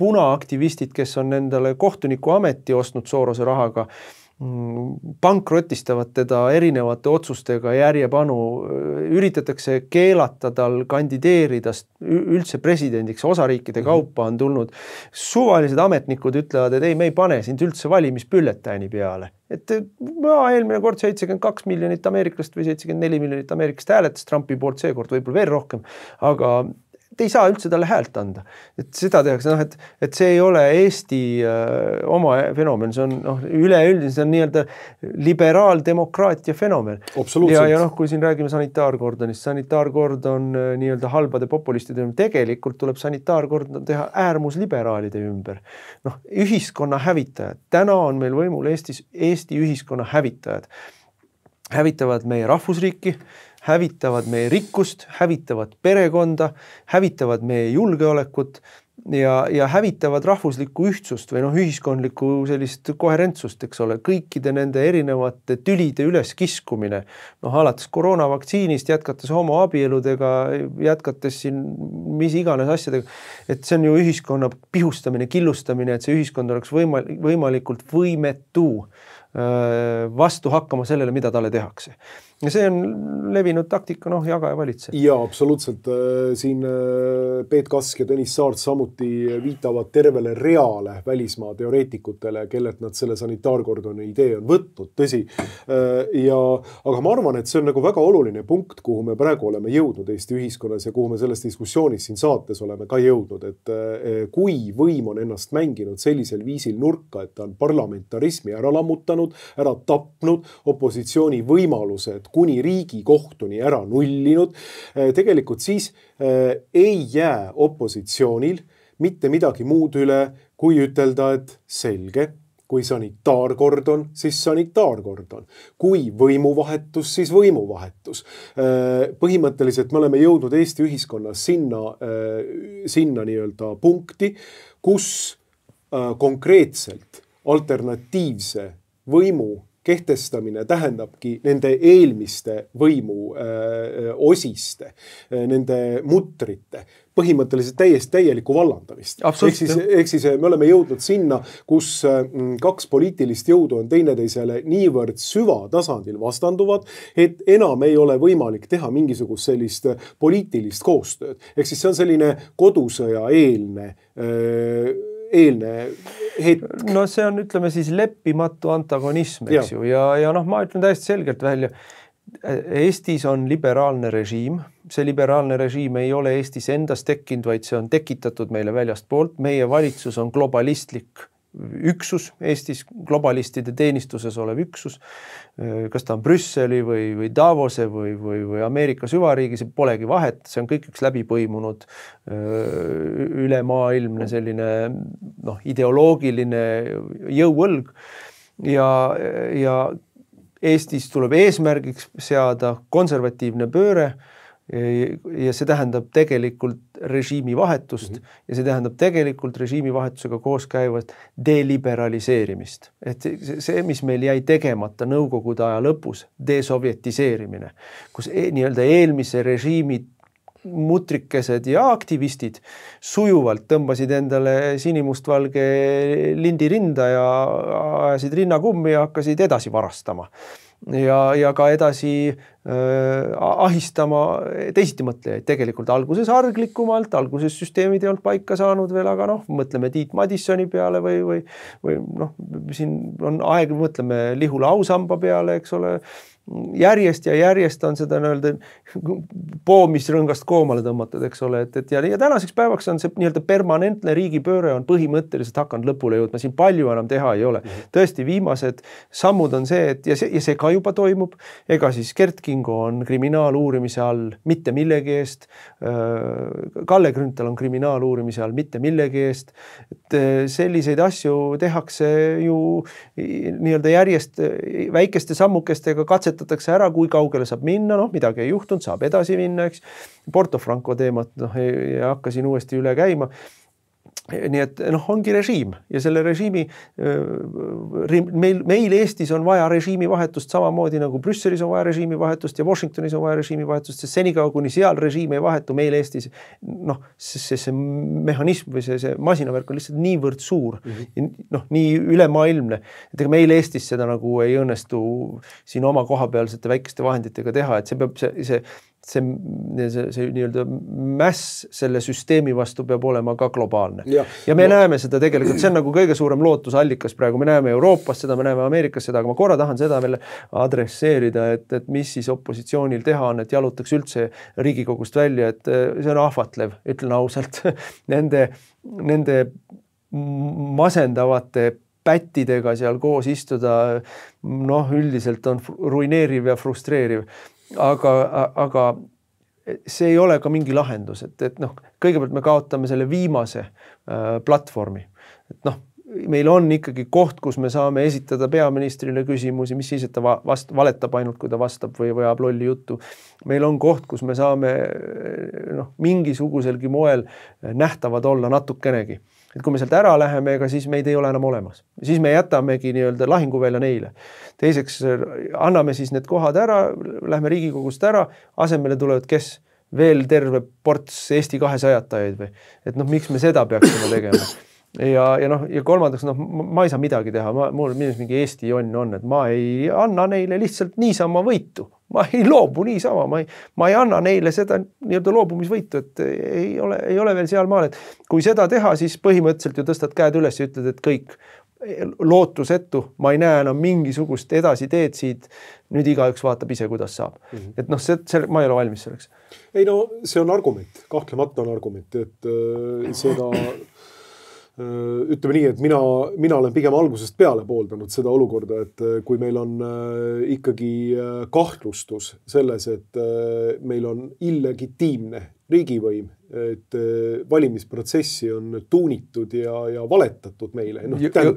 punaaktivistid, kes on endale kohtuniku ameti ostnud Sorose rahaga, pankrotistavad teda erinevate otsustega järjepanu, üritatakse keelata tal kandideerida üldse presidendiks, osariikide kaupa on tulnud. Suvalised ametnikud ütlevad, et ei, me ei pane sind üldse valimispülletääni peale. Et eelmine kord 72 miljonit ameeriklast või 74 miljonit ameeriklast hääletas Trumpi poolt, seekord võib-olla veel rohkem, aga ei saa üldse talle häält anda. Et seda tehakse, et see ei ole Eesti oma fenomen, see on üleüldine, see on nii-öelda liberaaldemokraatia fenomen. Ja kui siin räägime sanitaarkordonist, sanitaarkordon nii-öelda halbade populistide ümber, tegelikult tuleb sanitaarkordon teha äärmusliberaalide ümber. Ühiskonna hävitajad. Täna on meil võimul Eesti ühiskonna hävitajad. Hävitavad meie rahvusriiki, hävitavad meie rikkust, hävitavad perekonda, hävitavad meie julgeolekut ja hävitavad rahvuslikku ühtsust või ühiskondlikku sellist koherentsust, eks ole, kõikide nende erinevate tülide üles kiskumine, alates koroonavaktsiinist, jätkates homoabieludega, jätkates siin mis iganes asjadega, et see on ju ühiskonna pihustamine, killustamine, et see ühiskond oleks võimalikult võimetu vastu hakkama sellele, mida talle tehakse. Ja see on levinud taktika, jaga ja valitse. Ja absoluutselt. Siin Peet Kask ja Tõnis Saart samuti viitavad tervele reale välismaa teoreetikutele, kellelt nad selle sanitaarkordoni idee on võtnud, tõsi. Aga ma arvan, et see on nagu väga oluline punkt, kuhu me praegu oleme jõudnud Eesti ühiskonnas ja kuhu me selles diskussioonis siin saates oleme ka jõudnud, et kui võim on ennast mänginud sellisel viisil nurka, et ta on parlamentarismi ära lammutanud, ära tapnud, opositsiooni võimalused kuni Riigikohtuni ära nullinud, tegelikult siis ei jää opositsioonil mitte midagi muud üle, kui ütelda, et selge, kui sanitaarkord on, siis sanitaarkord on. Kui võimuvahetus, siis võimuvahetus. Põhimõtteliselt me oleme jõudnud Eesti ühiskonnas sinna nii-öelda punkti, kus konkreetselt alternatiivse võimu kehtestamine tähendabki nende eelmiste võimu osiste, nende mutrite, põhimõtteliselt täielikku vallandamist. Ehk siis me oleme jõudnud sinna, kus kaks poliitilist jõudu on teineteisele niivõrd süvatasandil vastanduvad, et enam ei ole võimalik teha mingisugust sellist poliitilist koostööd. Ehk siis see on selline kodusõja eelne hetk. No see on, ütleme siis, leppimatu antagonism, eks ju. Ja ma ütlen täiesti selgelt välja. Eestis on liberaalne režiim. See liberaalne režiim ei ole Eestis endas tekkinud, vaid see on tekitatud meile väljast poolt. Meie valitsus on globalistlik üksus, Eestis globalistide teenistuses olev üksus. Kas ta on Brüsseli või Davose või Ameerika süvariigi, see polegi vahet, see on kõik üks läbipõimunud ülemaailmne selline ideoloogiline jõuõlg ja Eestis tuleb eesmärgiks seada konservatiivne pööre ja see tähendab tegelikult režiimi vahetust ja see tähendab tegelikult režiimi vahetusega koos käivat deliberaliseerimist. Et see, mis meil jäi tegemata Nõukogude aja lõpus, desovjetiseerimine, kus nii-öelda eelmise režiimi mutrikesed ja aktivistid sujuvalt tõmbasid endale sinimustvalge lindi rinda ja ajasid rinnakummi ja hakkasid edasi varastama. Ja ka edasi ahistama teisitimõtlejaid tegelikult alguses arglikumalt, alguses süsteemid ei olnud paika saanud veel, aga mõtleme Tiit Madissoni peale või siin on aeg, mõtleme Lihula Ausamba peale, eks ole, järjest on seda poomisrõngast koomale tõmmatud, eks ole, ja tänaseks päevaks on see nii-öelda permanentne riigipööre on põhimõtteliselt hakanud lõpule jõudma, siin palju enam teha ei ole. Tõesti, viimased sammud on see, et ja see ka juba toimub, ega siis Gert Kingo on kriminaaluurimise all mitte millegi eest, Kalle Grünthal on kriminaaluurimise all mitte millegi eest, et selliseid asju tehakse ju nii-öelda järjest väikeste sammukestega katsetatakse ära, kui kaugele saab minna, midagi ei juhtunud, saab edasi minna, eks. Porto Franco teemat ei hakka siin uuesti üle käima. Nii et ongi režiim ja selle režiimi meil Eestis on vaja režiimi vahetust samamoodi nagu Brüsselis on vaja režiimi vahetust ja Washingtonis on vaja režiimi vahetust, sest senikaua kuni seal režiim ei vahetu meil Eestis see mehhanism või see masinavärk on lihtsalt niivõrd suur nii ülemaailmne, et ega meil Eestis seda nagu ei õnnestu siin oma kohapealsete väikeste vahenditega teha, et see peab see nii-öelda mäss selle süsteemi vastu peab olema ka globaalne. Ja me näeme seda tegelikult, see on nagu kõige suurem lootusallikas praegu, me näeme Euroopas seda, me näeme Ameerikas seda, aga ma korra tahan seda veel adresseerida, et mis siis opositsioonil teha on, et jalutaks üldse Riigikogust välja, et see on ahvatlev, ütlen ausalt, nende masendavate pättidega seal koos istuda, üldiselt on ruineeriv ja frustreeriv. Aga see ei ole ka mingi lahendus, et kõigepealt me kaotame selle viimase platvormi. Et meil on ikkagi koht, kus me saame esitada peaministrile küsimusi, mis siis, et ta valetab ainult, kui ta vastab või ajab lolli juttu. Meil on koht, kus me saame mingisuguselgi moel nähtavad olla natukenegi. Et kui me sealt ära läheme, ega siis meid ei ole enam olemas. Siis me jätamegi nii-öelda lahinguvälja neile. Teiseks anname siis need kohad ära, lähme Riigikogust ära, asemele tulevad kes? Veel terve ports Eesti 200-tajaid või? Et miks me seda peaksime tegema? Ja kolmandaks, ma ei saa midagi teha, mul mingi Eesti jonn on, et ma ei anna neile lihtsalt niisama võitu. Ma ei loobu niisama, ma ei anna neile seda nii-öelda loobumisvõitu, et ei ole veel seal maal, et kui seda teha, siis põhimõtteliselt ju tõstad käed üles ja ütled, et kõik lootusetu, ma ei näe enam mingisugust edasi teed siit, nüüd igaüks vaatab ise, kuidas saab. Et ma ei ole valmis selleks. Ei see on argument, kahtlemata on argument, et seda ütleme nii, et mina olen pigem algusest peale pooldanud seda olukorda, et kui meil on ikkagi kahtlustus selles, et meil on illegitiimne riigivõim, et valimisprotsessi on tuunitud ja valetatud meile.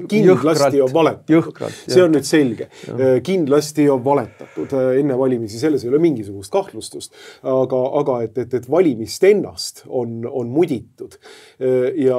Kindlasti on valetatud. See on nüüd selge. Kindlasti on valetatud enne valimisi, selles ei ole mingisugust kahtlustust. Aga et valimist ennast on muditud ja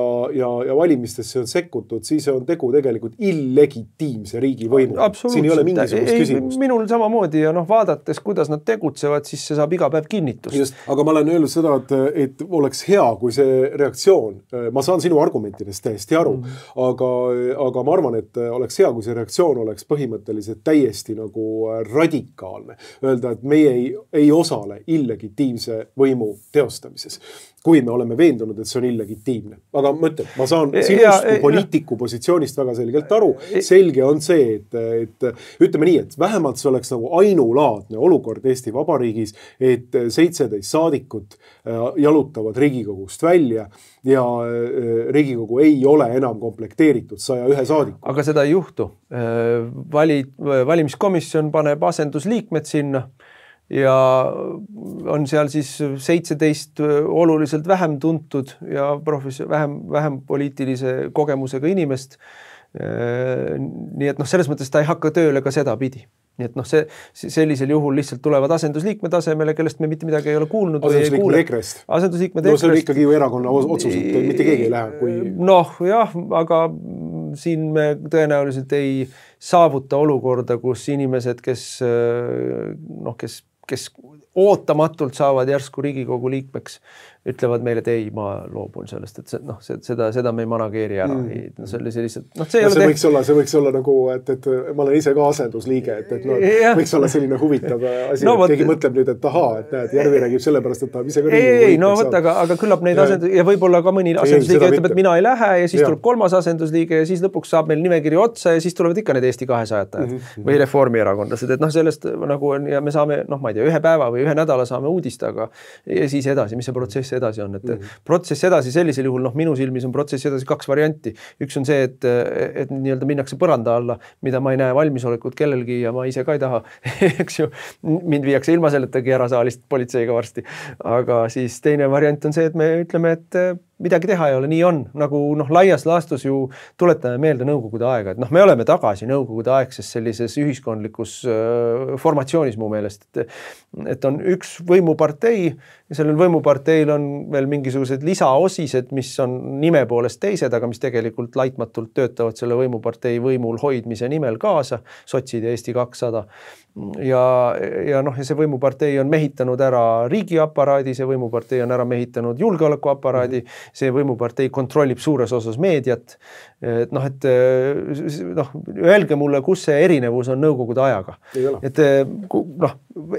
valimistesse on sekkutud, siis on tegu tegelikult illegitiimse riigivõimu. Siin ei ole mingisugust küsimust. Minul samamoodi ja vaadates, kuidas nad tegutsevad, siis see saab iga päev kinnitust. Just, aga ma olen öelnud seda, et oleks hea, kui see reaktsioon, ma saan sinu argumentidest täiesti aru, aga ma arvan, et oleks hea, kui see reaktsioon oleks põhimõtteliselt täiesti nagu radikaalne. Öelda, et meie ei osale illegitiimse võimu teostamises, kui me oleme veendunud, et see on illegitiimne. Aga mõtled, ma saan sinust kui poliitiku positsioonist väga selgelt aru. Selge on see, et ütleme nii, et vähemalt see oleks nagu ainulaadne olukord Eesti Vabariigis, et 17 saadikut jalutavad Riigikogust välja ja Riigikogu ei ole enam komplekteeritud 101 saadiku. Aga seda ei juhtu. Valimiskomisjon paneb asendusliikmed sinna ja on seal siis 17 oluliselt vähem tuntud ja vähem poliitilise kogemusega inimest. Nii et selles mõttes ta ei hakka tööle ka seda pidi. Nii et sellisel juhul lihtsalt tulevad asendusliikme tasemele, kellest me mitte midagi ei ole kuulnud. Asendusliikmed EKRE-st. Asendusliikmed EKRE-st. See on ikkagi ju erakonna otsus, et mitte keegi ei lähe. Kui... jah, aga siin me tõenäoliselt ei saavuta olukorda, kus inimesed, kes ootamatult saavad järsku Riigikogu liikmeks, ütlevad meile, et ei, ma loobun sellest, et seda me ei manageeri ära. See võiks olla nagu, et ma olen ise ka asendusliige, et võiks olla selline huvitav asi, et keegi mõtleb nüüd, et ahaa, et näed, Järvi räägib sellepärast, et ta ise ka Riigikogu liikmeks aga küllap neid ja võib-olla ka mõni asendusliige ütleb, et mina ei lähe ja siis tuleb kolmas asendusliige ja siis lõpuks saab meil nimekiri otsa ja siis tulevad ikka need Eesti 200-tajad või reformierakondlased, et sellest nagu ja me saame, ma ei tea, ühe päeva või ühe nädala saame uudist, aga ja siis edasi, mis see protsess edasi on, et protsess edasi sellisel juhul, minu silmis on protsess edasi 2 varianti. Üks on see, et nii-öelda minnakse põranda alla, mida ma ei näe valmisolekut kellelgi ja ma ise ka ei taha, eks ju, mind viiakse ilma selletagi ära saalist politseiga varsti. Aga siis teine variant on see, et me ütleme, et midagi teha ei ole, nii on. Nagu laias laastus ju tuletame meelde nõukogude aega, et me oleme tagasi nõukogude aegses sellises ühiskondlikus formatsioonis mu meelest, et on üks võimupartei ja sellel võimuparteil on veel mingisugused lisaosised, mis on nime poolest teised, aga mis tegelikult laitmatult töötavad selle võimupartei võimul hoidmise nimel kaasa, sotsid ja Eesti 200. Ja see võimupartei on mehitanud ära riigiaparaadi, see võimupartei on ära mehitanud julgeolekuaparaadi, see võimupartei kontrollib suures osas meediat. Öelge mulle, kus see erinevus on nõukogude ajaga.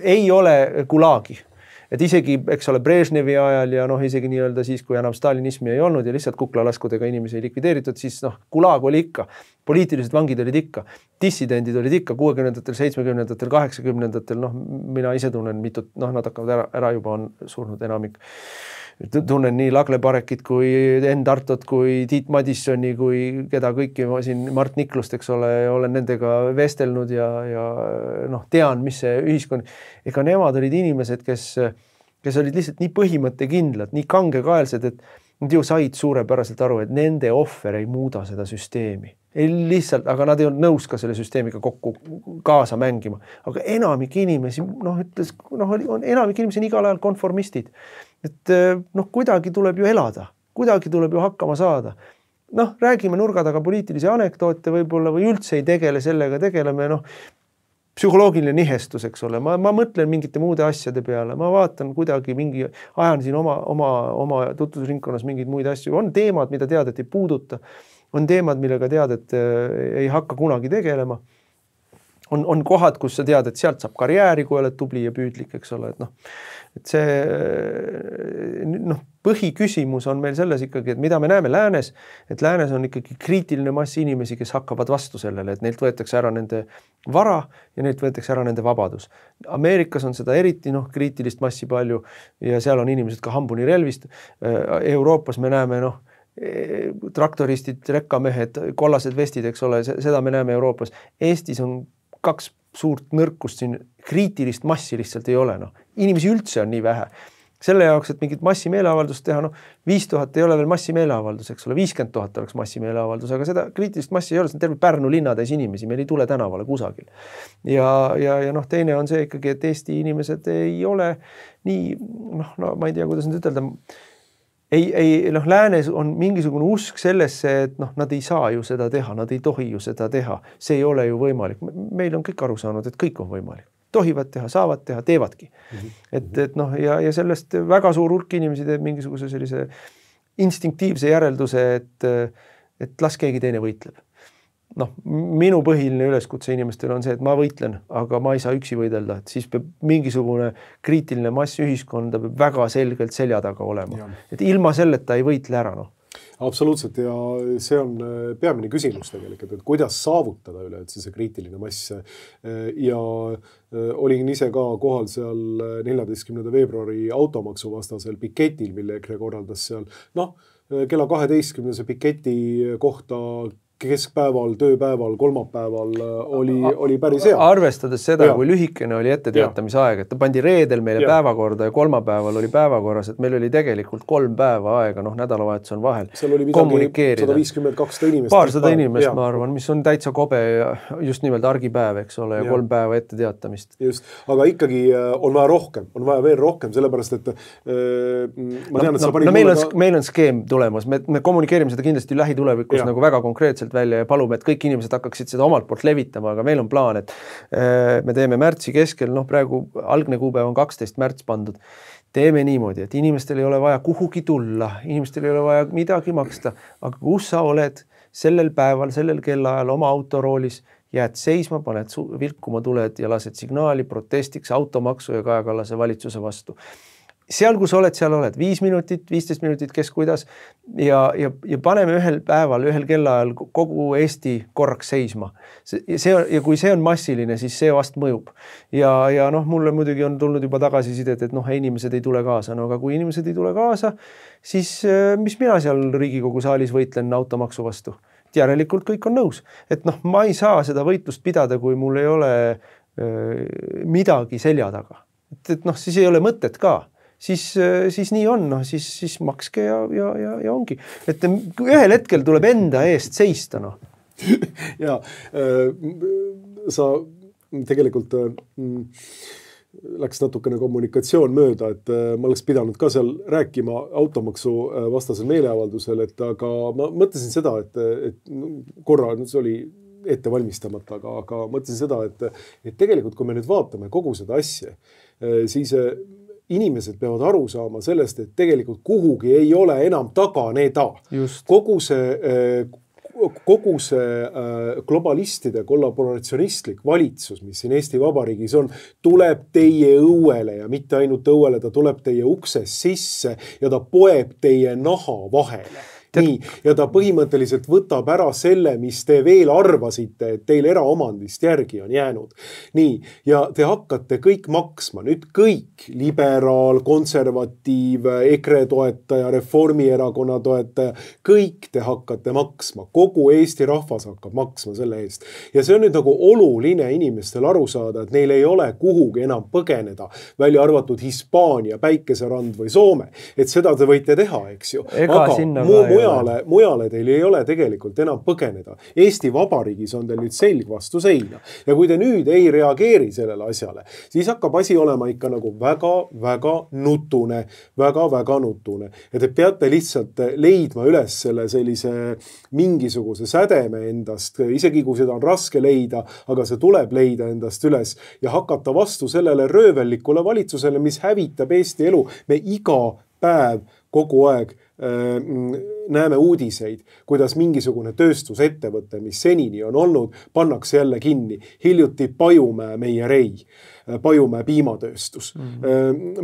Ei ole gulaagi. Et isegi, eks ole, Brežnevi ajal ja isegi nii-öelda siis, kui enam stalinismi ei olnud ja lihtsalt kuklalaskudega inimesi likvideeritud, siis gulaag oli ikka, poliitilised vangid olid ikka, dissidendid olid ikka 60-ndatel, 70-ndatel, 80-ndatel, mina ise tunnen mitut, nad hakkavad ära juba on surnud enamik. Tunnen nii Lagle Parekit kui Enn Tartot kui Tiit Madissoni kui keda kõiki ma siin Mart Niklust, eks ole, olen nendega vestelnud ja tean, mis see ühiskond, nemad olid inimesed, kes olid lihtsalt nii põhimõttekindlad, nii kangekaelsed, Nad ju said suurepäraselt aru, et nende ohver ei muuda seda süsteemi. Ei lihtsalt, aga nad ei olnud nõus ka selle süsteemiga kokku kaasa mängima. Aga enamik inimesi, enamik inimesi on igal ajal konformistid. Et kuidagi tuleb ju elada, kuidagi tuleb ju hakkama saada. Räägime nurga taga poliitilisi anekdoote võib-olla või üldse ei tegele sellega, tegeleme psühholoogiline nihestus, eks ole. Ma mõtlen mingite muude asjade peale, ma vaatan kuidagi ajan siin oma tutvusringkonnas mingeid muid asju. On teemad, mida tead, et ei puuduta. On teemad, millega tead, et ei hakka kunagi tegelema. On kohad, kus sa tead, et sealt saab karjääri, kui oled tubli ja püüdlik, eks ole. Et see põhiküsimus on meil selles ikkagi, et mida me näeme läänes, et läänes on ikkagi kriitiline mass inimesi, kes hakkavad vastu sellele, et neilt võetakse ära nende vara ja neilt võetakse ära nende vabadus. Ameerikas on seda eriti kriitilist massi palju ja seal on inimesed ka hambuni relvist. Euroopas me näeme traktoristid, rekkamehed, kollased vestid, eks ole, seda me näeme Euroopas. Eestis on 2 suurt nõrkust siin, kriitilist massi lihtsalt ei ole. Inimesi üldse on nii vähe. Selle jaoks, et mingit massimeeleavaldust teha, 5000 ei ole veel massimeeleavaldus, eks ole, 50 000 oleks massimeeleavaldus, aga seda kriitilist massi ei ole, see on terve Pärnu linnatäis inimesi, meil ei tule tänavale kusagil. Ja teine on see ikkagi, et Eesti inimesed ei ole nii, ma ei tea, kuidas nüüd ütelda, läänes on mingisugune usk sellesse, et nad ei saa ju seda teha, nad ei tohi ju seda teha. See ei ole ju võimalik. Meil on kõik aru saanud, et kõik on võimalik. Tohivad teha, saavad teha, teevadki. Ja sellest väga suur hulk inimesi teeb mingisuguse sellise instinktiivse järelduse, et las keegi teine võitleb. Minu põhiline üleskutse inimestel on see, et ma võitlen, aga ma ei saa üksi võidelda, et siis peab mingisugune kriitiline mass ühiskonda peab väga selgelt selja taga olema. Et ilma selleta ei võitle ära. Absoluutselt ja see on peamine küsimus tegelikult, et kuidas saavutada üleüldse see kriitiline mass ja olin ise ka kohal seal 14. veebruari automaksu vastasel piketil, mille EKRE korraldas seal. Kella 12. piketi kohta keskpäeval, tööpäeval, kolmapäeval oli päris hea. Arvestades seda, kui lühikene oli etteteatamisaeg, et ta pandi reedel meile päevakorda ja kolmapäeval oli päevakorras, et meil oli tegelikult 3 päeva aega, nädalavahetus on vahel. Seal oli midagi 150-200 inimest. Paarsada inimest, ma arvan, mis on täitsa kobe just nimelt argipäev, eks ole, ja 3 päeva etteteatamist. Just, aga ikkagi on vaja rohkem, on vaja veel rohkem, sellepärast, et ma tean, et sa panid meil on skeem tulemas, me kommunikeerime seda kindlasti lähitulevikus nagu väga konkreetselt välja ja palume, et kõik inimesed hakkaksid seda omalt poolt levitama, aga meil on plaan, et me teeme märtsi keskel, praegu algne kuupäev on 12 märts pandud. Teeme niimoodi, et inimestel ei ole vaja kuhugi tulla, inimestel ei ole vaja midagi maksta, aga kus sa oled sellel päeval, sellel kellaajal oma autoroolis, jääd seisma, paned vilkuma tuled ja lased signaali protestiks automaksu ja Kaja Kallase valitsuse vastu. Seal, kus oled, seal oled 5 minutit, 15 minutit, kes kuidas ja paneme ühel päeval, ühel kellaajal kogu Eesti korraks seisma. Ja kui see on massiline, siis see vast mõjub. Ja mulle muidugi on tulnud juba tagasisidet, et inimesed ei tule kaasa. Aga kui inimesed ei tule kaasa, siis mis mina seal Riigikogu saalis võitlen automaksu vastu? Järelikult kõik on nõus. Et ma ei saa seda võitlust pidada, kui mul ei ole midagi selja taga. Et siis ei ole mõtet ka. Siis nii on, siis makske ja ongi. Et ühel hetkel tuleb enda eest seista. Ja sa tegelikult läks natukene kommunikatsioon mööda, et ma oleks pidanud ka seal rääkima automaksu vastasel meeleavaldusel, aga ma mõtlesin seda, et korra see oli ette valmistamata, aga mõtlesin seda, et tegelikult kui me nüüd vaatame kogu seda asja, siis inimesed peavad aru saama sellest, et tegelikult kuhugi ei ole enam taganeda. Kogu see globalistide kollaboratsionistlik valitsus, mis siin Eesti Vabariigis on, tuleb teie õuele ja mitte ainult õuele, ta tuleb teie ukses sisse ja ta poeb teie naha vahele. nii, ja ta põhimõtteliselt võtab ära selle, mis te veel arvasite, et teil eraomandist järgi on jäänud. Nii, ja te hakkate kõik maksma, nüüd kõik, liberaal, konservatiiv, EKRE toetaja, Reformierakonna toetaja, kõik te hakkate maksma, kogu Eesti rahvas hakkab maksma selle eest. Ja see on nüüd nagu oluline inimestel aru saada, et neil ei ole kuhugi enam põgeneda, välja arvatud Hispaania, Päikeserand või Soome. Et seda te võite teha, eks ju. Aga mujale teil ei ole tegelikult enam põgeneda. Eesti Vabariigis on teil nüüd selg vastu seina. Ja kui te nüüd ei reageeri sellele asjale, siis hakkab asi olema ikka nagu väga nutune. Väga nutune. Ja te peate lihtsalt leidma üles selle sellise mingisuguse sädeme endast, isegi kui seda on raske leida, aga see tuleb leida endast üles ja hakata vastu sellele röövellikule valitsusele, mis hävitab Eesti elu. Me iga päev kogu aeg näeme uudiseid, kuidas mingisugune tööstusettevõte, mis senini on olnud, pannakse jälle kinni. Hiljuti Pajumäe meierei, Pajumäe piimatööstus,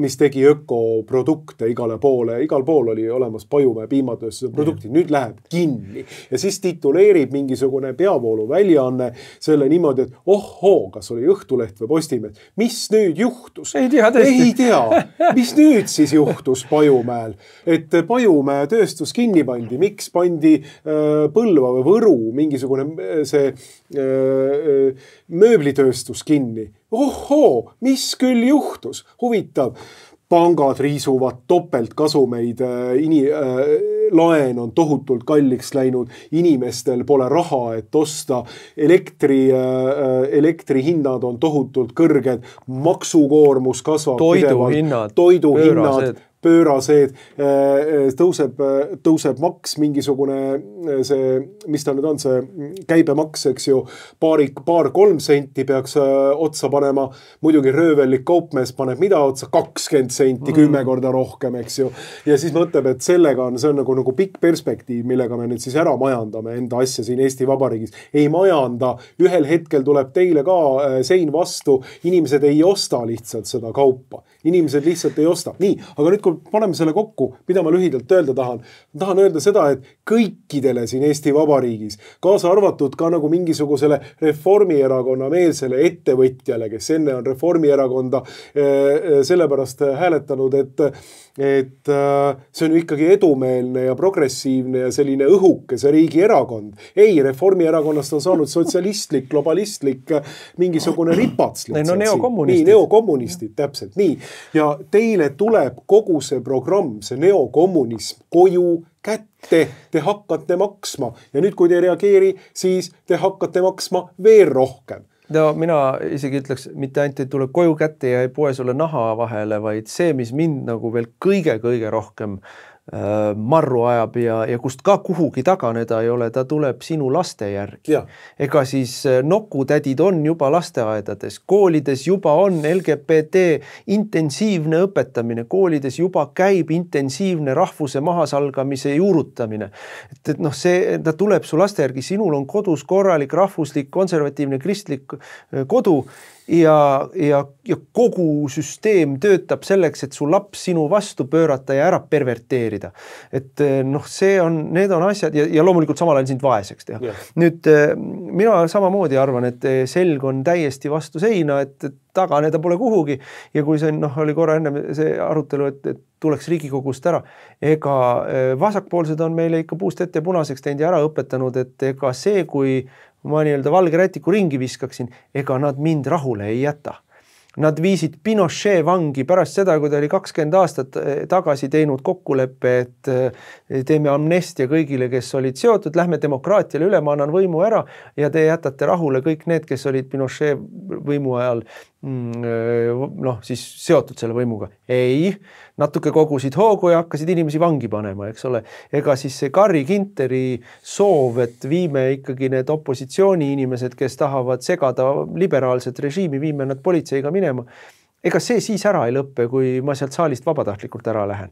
mis tegi ökoprodukte igal pool oli olemas Pajumäe piimatööstuse produktid, nüüd läheb kinni. Ja siis tituleerib mingisugune peavoolu väljaanne selle niimoodi, et ohhoo, kas oli Õhtuleht või Postimees, mis nüüd juhtus? Ei tea. Mis nüüd siis juhtus Pajumäel? Et Pajumäe tööstus kinni pandi, miks pandi Põlva või Võru mingisugune see mööblitööstus kinni? Ohhoo, mis küll juhtus? Huvitav, pangad riisuvad topeltkasumeid, laen on tohutult kalliks läinud, inimestel pole raha, et osta, elektri hinnad on tohutult kõrged, maksukoormus kasvab, toiduhinnad pöörased, tõuseb maks mingisugune see, mis ta nüüd on, see käibemaks, eks ju, paar 3 senti peaks otsa panema, muidugi röövellik kaupmees paneb mida otsa, 20 senti, 10 korda rohkem, eks ju, ja siis mõtleb, et sellega on, see on nagu pikk perspektiiv, millega me nüüd siis ära majandame enda asja siin Eesti Vabariigis. Ei majanda, ühel hetkel tuleb teile ka sein vastu, inimesed ei osta lihtsalt seda kaupa. Inimesed lihtsalt ei osta. Nii, aga nüüd kui paneme selle kokku, mida ma lühidalt öelda tahan. Ma tahan öelda seda, et kõikidele siin Eesti Vabariigis, kaasa arvatud ka nagu mingisugusele Reformierakonna meelsele ettevõtjale, kes enne on Reformierakonda sellepärast hääletanud, et see on ikkagi edumeelne ja progressiivne ja selline õhukese riigi erakond. Ei, Reformierakonnast on saanud sotsialistlik, globalistlik, mingisugune ripats. Neokommunistid, täpselt, nii. Ja teile tuleb kogu see programm, see neokommunism koju kätte, te hakkate maksma. Ja nüüd, kui te reageeri, siis te hakkate maksma veel rohkem. No mina isegi ütleks, mitte ainult ei tule koju kätte ja ei poe sulle naha vahele, vaid see, mis mind nagu veel kõige rohkem marru ajab ja kust ka kuhugi taganeda ei ole, ta tuleb sinu laste järgi. Ega siis nokutädid on juba lasteaedades, koolides juba on LGBT intensiivne õpetamine, koolides juba käib intensiivne rahvuse mahasalgamise juurutamine. Et ta tuleb su laste järgi, sinul on kodus korralik, rahvuslik, konservatiivne, kristlik kodu ja kogu süsteem töötab selleks, et su laps sinu vastu pöörata ja ära perverteerida. Et need on asjad ja loomulikult samal ajal sind vaeseks teha. Nüüd mina samamoodi arvan, et selg on täiesti vastu seina, et taganeda pole kuhugi ja kui see oli korra enne see arutelu, et tuleks Riigikogust ära, ega vasakpoolsed on meile ikka puust ette punaseks teinud ja ära õpetanud, et ega see, kui ma valge rätiku ringi viskaksin, ega nad mind rahule ei jäta. Nad viisid Pinochet vangi pärast seda, kui ta oli 20 aastat tagasi teinud kokkuleppe, et teeme amnestia kõigile, kes olid seotud, lähme demokraatiale üle, ma annan võimu ära ja te jätate rahule kõik need, kes olid Pinochet võimu ajal siis seotud selle võimuga. Ei, natuke kogusid hoogu ja hakkasid inimesi vangi panema, eks ole. Ega siis see Carri Ginteri soov, et viime ikkagi need opositsiooni inimesed, kes tahavad segada liberaalset režiimi, viime nad politseiga minema. Ega see siis ära ei lõppe, kui ma sealt saalist vabatahtlikult ära lähen.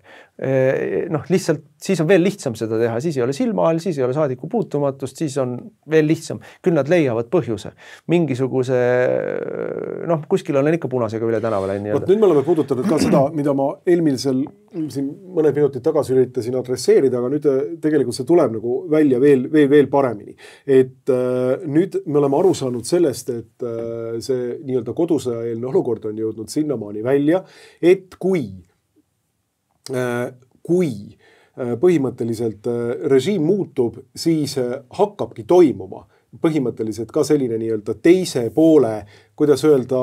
Lihtsalt siis on veel lihtsam seda teha, siis ei ole silmaal, siis ei ole saadiku puutumatust, siis on veel lihtsam. Küll nad leiavad põhjuse. Mingisuguse, kuskil olen ikka punasega üle tänava läinud. Nüüd me oleme puudutanud ka seda, mida ma eelmisel siin mõned minutid tagasi üritasin adresseerida, aga nüüd tegelikult see tuleb nagu välja veel paremini. Et nüüd me oleme aru saanud sellest, et see nii-öelda kodusõjaeelne olukord on jõudnud sinnamaani välja, et kui põhimõtteliselt režiim muutub, siis hakkabki toimuma põhimõtteliselt ka selline nii-öelda teise poole, kuidas öelda,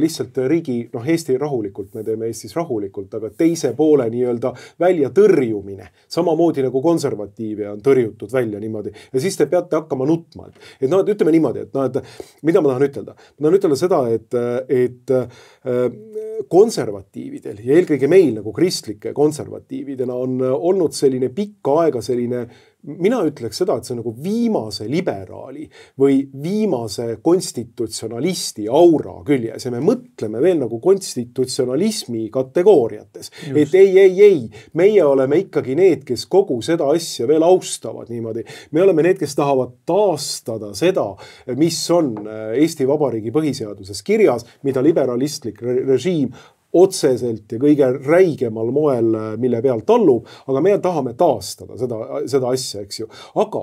lihtsalt riigi, Eesti rahulikult, me teeme Eestis rahulikult, aga teise poole nii-öelda välja tõrjumine. Samamoodi nagu konservatiive on tõrjutud välja niimoodi. Ja siis te peate hakkama nutma. Et ütleme niimoodi, et mida ma tahan ütelda? Ma tahan ütelda seda, et konservatiividel ja eelkõige meil nagu kristlike konservatiividena on olnud selline pikka aega selline, mina ütleks seda, et see on nagu viimase liberaali või viimase konstitutsionalisti aura küljes ja me mõtleme veel nagu konstitutsionalismi kategooriates. Just. Et ei, meie oleme ikkagi need, kes kogu seda asja veel austavad niimoodi. Me oleme need, kes tahavad taastada seda, mis on Eesti Vabariigi põhiseaduses kirjas, mida liberalistlik režiim otseselt ja kõige räigemal moel, mille peal tallub, aga me tahame taastada seda asja, eks ju. Aga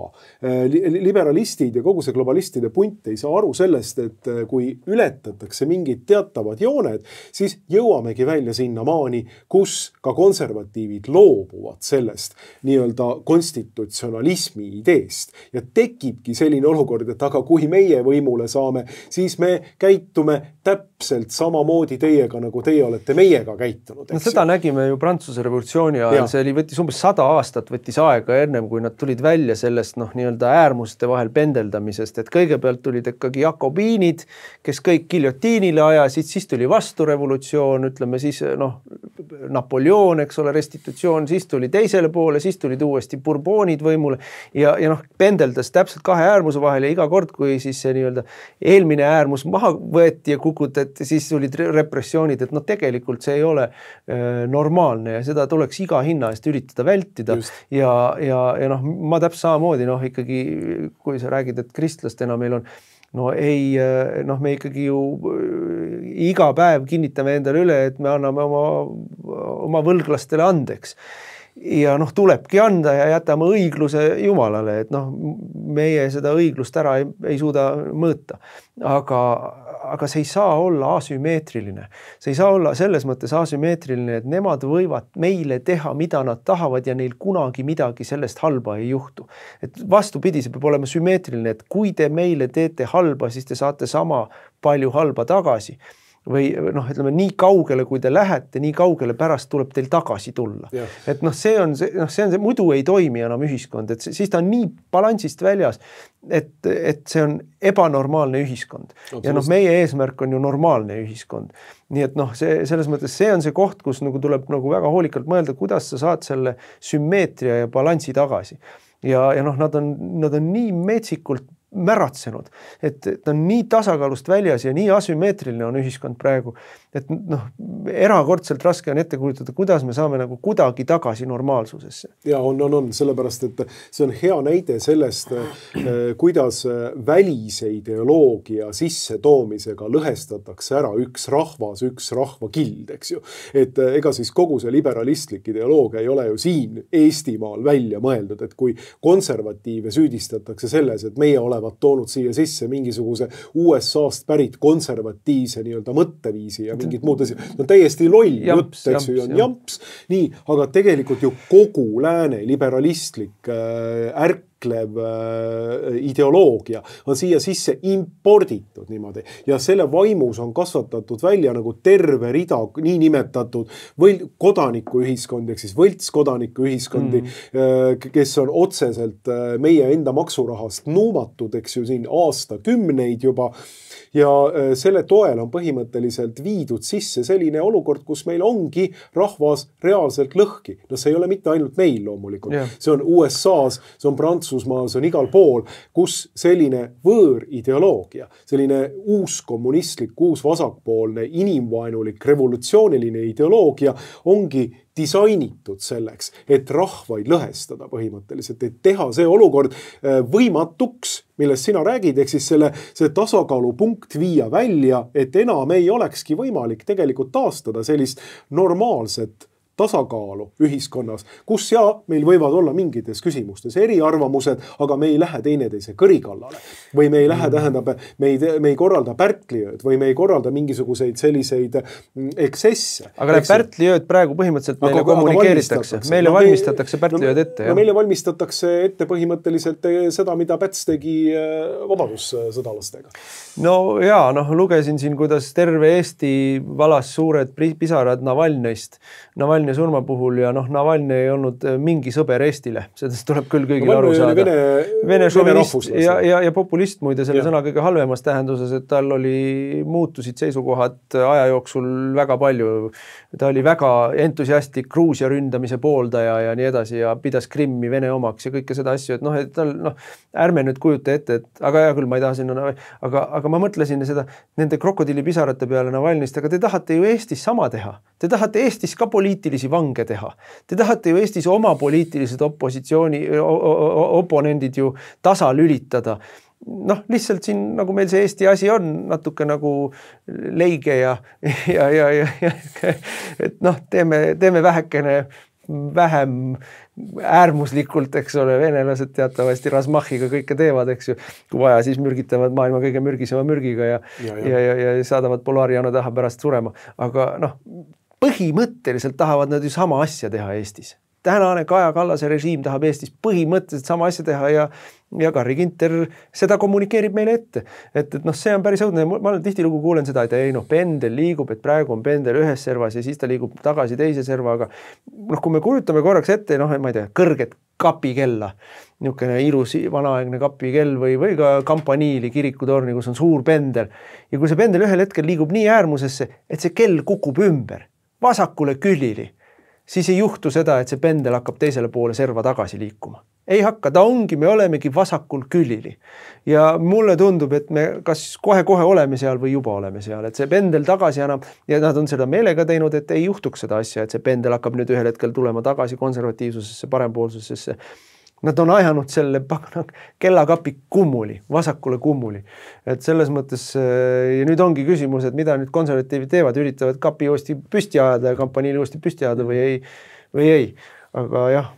liberalistid ja kogu see globalistide punt ei saa aru sellest, et kui ületatakse mingid teatavad jooned, siis jõuamegi välja sinna maani, kus ka konservatiivid loobuvad sellest nii-öelda konstitutsionalismi ideest. Ja tekibki selline olukord, et aga kui meie võimule saame, siis me käitume täpselt samamoodi teiega, nagu teie olete meiega käitunud. No, seda nägime ju Prantsuse revolutsiooni ajal, see võttis umbes 100 aastat võttis aega ennem, kui nad tulid välja sellest nii-öelda äärmuste vahel pendeldamisest, et kõigepealt tulid ikkagi jakobiinid, kes kõik giljotiinile ajasid, siis tuli vasturevolutsioon, ütleme siis Napoleon, eks ole, restitutsioon, siis tuli teisele poole, siis tulid uuesti Bourbonid võimule ja pendeldas täpselt kahe äärmuse vahel ja iga kord, kui siis see nii-öelda eelmine äärmus maha võeti ja kukutati, siis tulid repressioonid, et tegelikult see ei ole normaalne ja seda tuleks iga hinna eest üritada vältida. Just. Ja ma täpselt samamoodi, ikkagi kui sa räägid, et kristlastena meil on me ikkagi ju iga päev kinnitame endale üle, et me anname oma võlglastele andeks. Ja tulebki anda ja jätame õigluse Jumalale, et meie seda õiglust ära ei suuda mõõta. Aga see ei saa olla asümmeetriline. See ei saa olla selles mõttes asümmeetriline, et nemad võivad meile teha, mida nad tahavad ja neil kunagi midagi sellest halba ei juhtu. Et vastupidi, see peab olema sümmeetriline, et kui te meile teete halba, siis te saate sama palju halba tagasi. Või ütleme, nii kaugele, kui te lähete, nii kaugele pärast tuleb teil tagasi tulla. Yeah. Et see on see, muidu ei toimi enam ühiskond, et siis ta on nii balansist väljas, et see on ebanormaalne ühiskond. Ja meie eesmärk on ju normaalne ühiskond. Nii et selles mõttes see on see koht, kus tuleb väga hoolikalt mõelda, kuidas sa saad selle sümmeetria ja balansi tagasi. Ja nad on nii metsikult märatsenud, et ta on nii tasakaalust väljas ja nii asümmeetriline on ühiskond praegu, et erakordselt raske on ette kujutada, kuidas me saame kuidagi tagasi normaalsusesse. Ja on, sellepärast, et see on hea näide sellest, kuidas välise ideoloogia sisse toomisega lõhestatakse ära üks rahvas, üks rahvakild, eks ju. Et ega siis kogu see liberalistlik ideoloogia ei ole ju siin Eestimaal välja mõeldud, et kui konservatiive süüdistatakse selles, et meie olevat toonud siia sisse mingisuguse USA-st pärit konservatiivse nii-öelda mõtteviisi ja mingid muud asjad. No täiesti loll jutt, eks ju, on jamps. Nii, aga tegelikult ju kogu lääne liberalistlik ärklev ideoloogia on siia sisse imporditud niimoodi. Ja selle vaimus on kasvatatud välja nagu terve rida niinimetatud kodanikuühiskondi, ehk siis võltskodanikuühiskondi, kes on otseselt meie enda maksurahast nuumatud, eks ju, siin aastakümneid juba. Ja selle toel on põhimõtteliselt viidud sisse selline olukord, kus meil ongi rahvas reaalselt lõhki. No see ei ole mitte ainult meil loomulikult. Yeah. See on USA-s, see on Prantsusmaal, see on igal pool, kus selline võõrideoloogia, selline uus kommunistlik, uus vasakpoolne, inimvaenulik, revolutsiooniline ideoloogia ongi disainitud selleks, et rahvaid lõhestada põhimõtteliselt, et teha see olukord võimatuks, millest sina räägid, ehk siis see tasakaalupunkt viia välja, et enam ei olekski võimalik tegelikult taastada sellist normaalset tasakaalu ühiskonnas, kus meil võivad olla mingites küsimustes eriarvamused, aga me ei lähe teineteise kõrikallale. Või me ei lähe, tähendab, me ei korralda pärtliööd või me ei korralda mingisuguseid selliseid eksesse. Aga pärtliööd praegu põhimõtteliselt meile kommunikeeritakse. Meile valmistatakse pärtliööd ette. No meile valmistatakse ette põhimõtteliselt seda, mida Päts tegi vabadussõdalastega. No jaa, lugesin siin, kuidas terve Eesti valas suured pisarad Navalnõist. Navalnõi surma puhul ja Navalnõi ei olnud mingi sõber Eestile. Sellest tuleb küll kõigil aru saada. Vene šovinist ja populist muide selle sõna kõige halvemas tähenduses, et tal muutusid seisukohad aja jooksul väga palju. Ta oli väga entusiastlik Gruusia ründamise pooldaja ja nii edasi ja pidas Krimmi Vene omaks ja kõike seda asju, et ärme nüüd kujuta ette, et aga hea küll, ma ei taha sinna, aga ma mõtlesin seda nende krokodillipisarate peale Navalnõist, aga te tahate ju Eestis sama teha. Te tahate Eestis ka poliitilisi vange teha. Te tahate ju Eestis oma poliitilised oponendid ju tasa lülitada. Lihtsalt siin, nagu meil see Eesti asi on, natuke nagu leige ja et teeme vähekene vähem äärmuslikult, eks ole, venelased teatavasti Razmachiga kõike teevad, eks ju, kui vaja, siis mürgitavad maailma kõige mürgisema mürgiga ja saadavad Polariana taha pärast surema. Aga põhimõtteliselt tahavad nad ju sama asja teha Eestis. Tänane Kaja Kallase režiim tahab Eestis põhimõtteliselt sama asja teha ja Carri Ginter seda kommunikeerib meile ette. Et see on päris õudne. Ma tihtilugu kuulen seda, et pendel liigub, et praegu on pendel ühes servas ja siis ta liigub tagasi teise serva, aga kui me kujutame korraks ette, ma ei tea, kõrget kapikella, niisugune ilus vanaaegne kapikell või ka Kampaniili kirikutorni, kus on suur pendel. Ja kui see pendel ühel hetkel liigub nii äärmusesse, et see kell kukub ümber, vasakule külili, siis ei juhtu seda, et see pendel hakkab teisele poole serva tagasi liikuma. Ei hakka, me olemegi vasakul külili. Ja mulle tundub, et me kas kohe-kohe oleme seal või juba oleme seal, et see pendel tagasi annab ja nad on seda meelega teinud, et ei juhtuks seda asja, et see pendel hakkab nüüd ühel hetkel tulema tagasi konservatiivsusesse, parempoolsusesse. Nad on ajanud selle kellakapi kummuli, vasakule kummuli. Et selles mõttes, ja nüüd ongi küsimus, et mida nüüd konservatiivid teevad, üritavad kapi uuesti püsti ajada ja kampaniili uuesti püsti ajada või ei. Aga jah,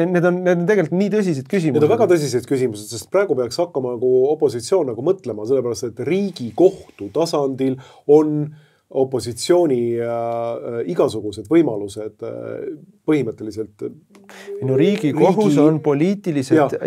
need on tegelikult nii tõsised küsimused. Need on väga tõsised küsimused, sest praegu peaks hakkama opositsioon mõtlema, sellepärast, et Riigikohtu tasandil on opositsiooni igasugused võimalused põhimõtteliselt. Riigikohus on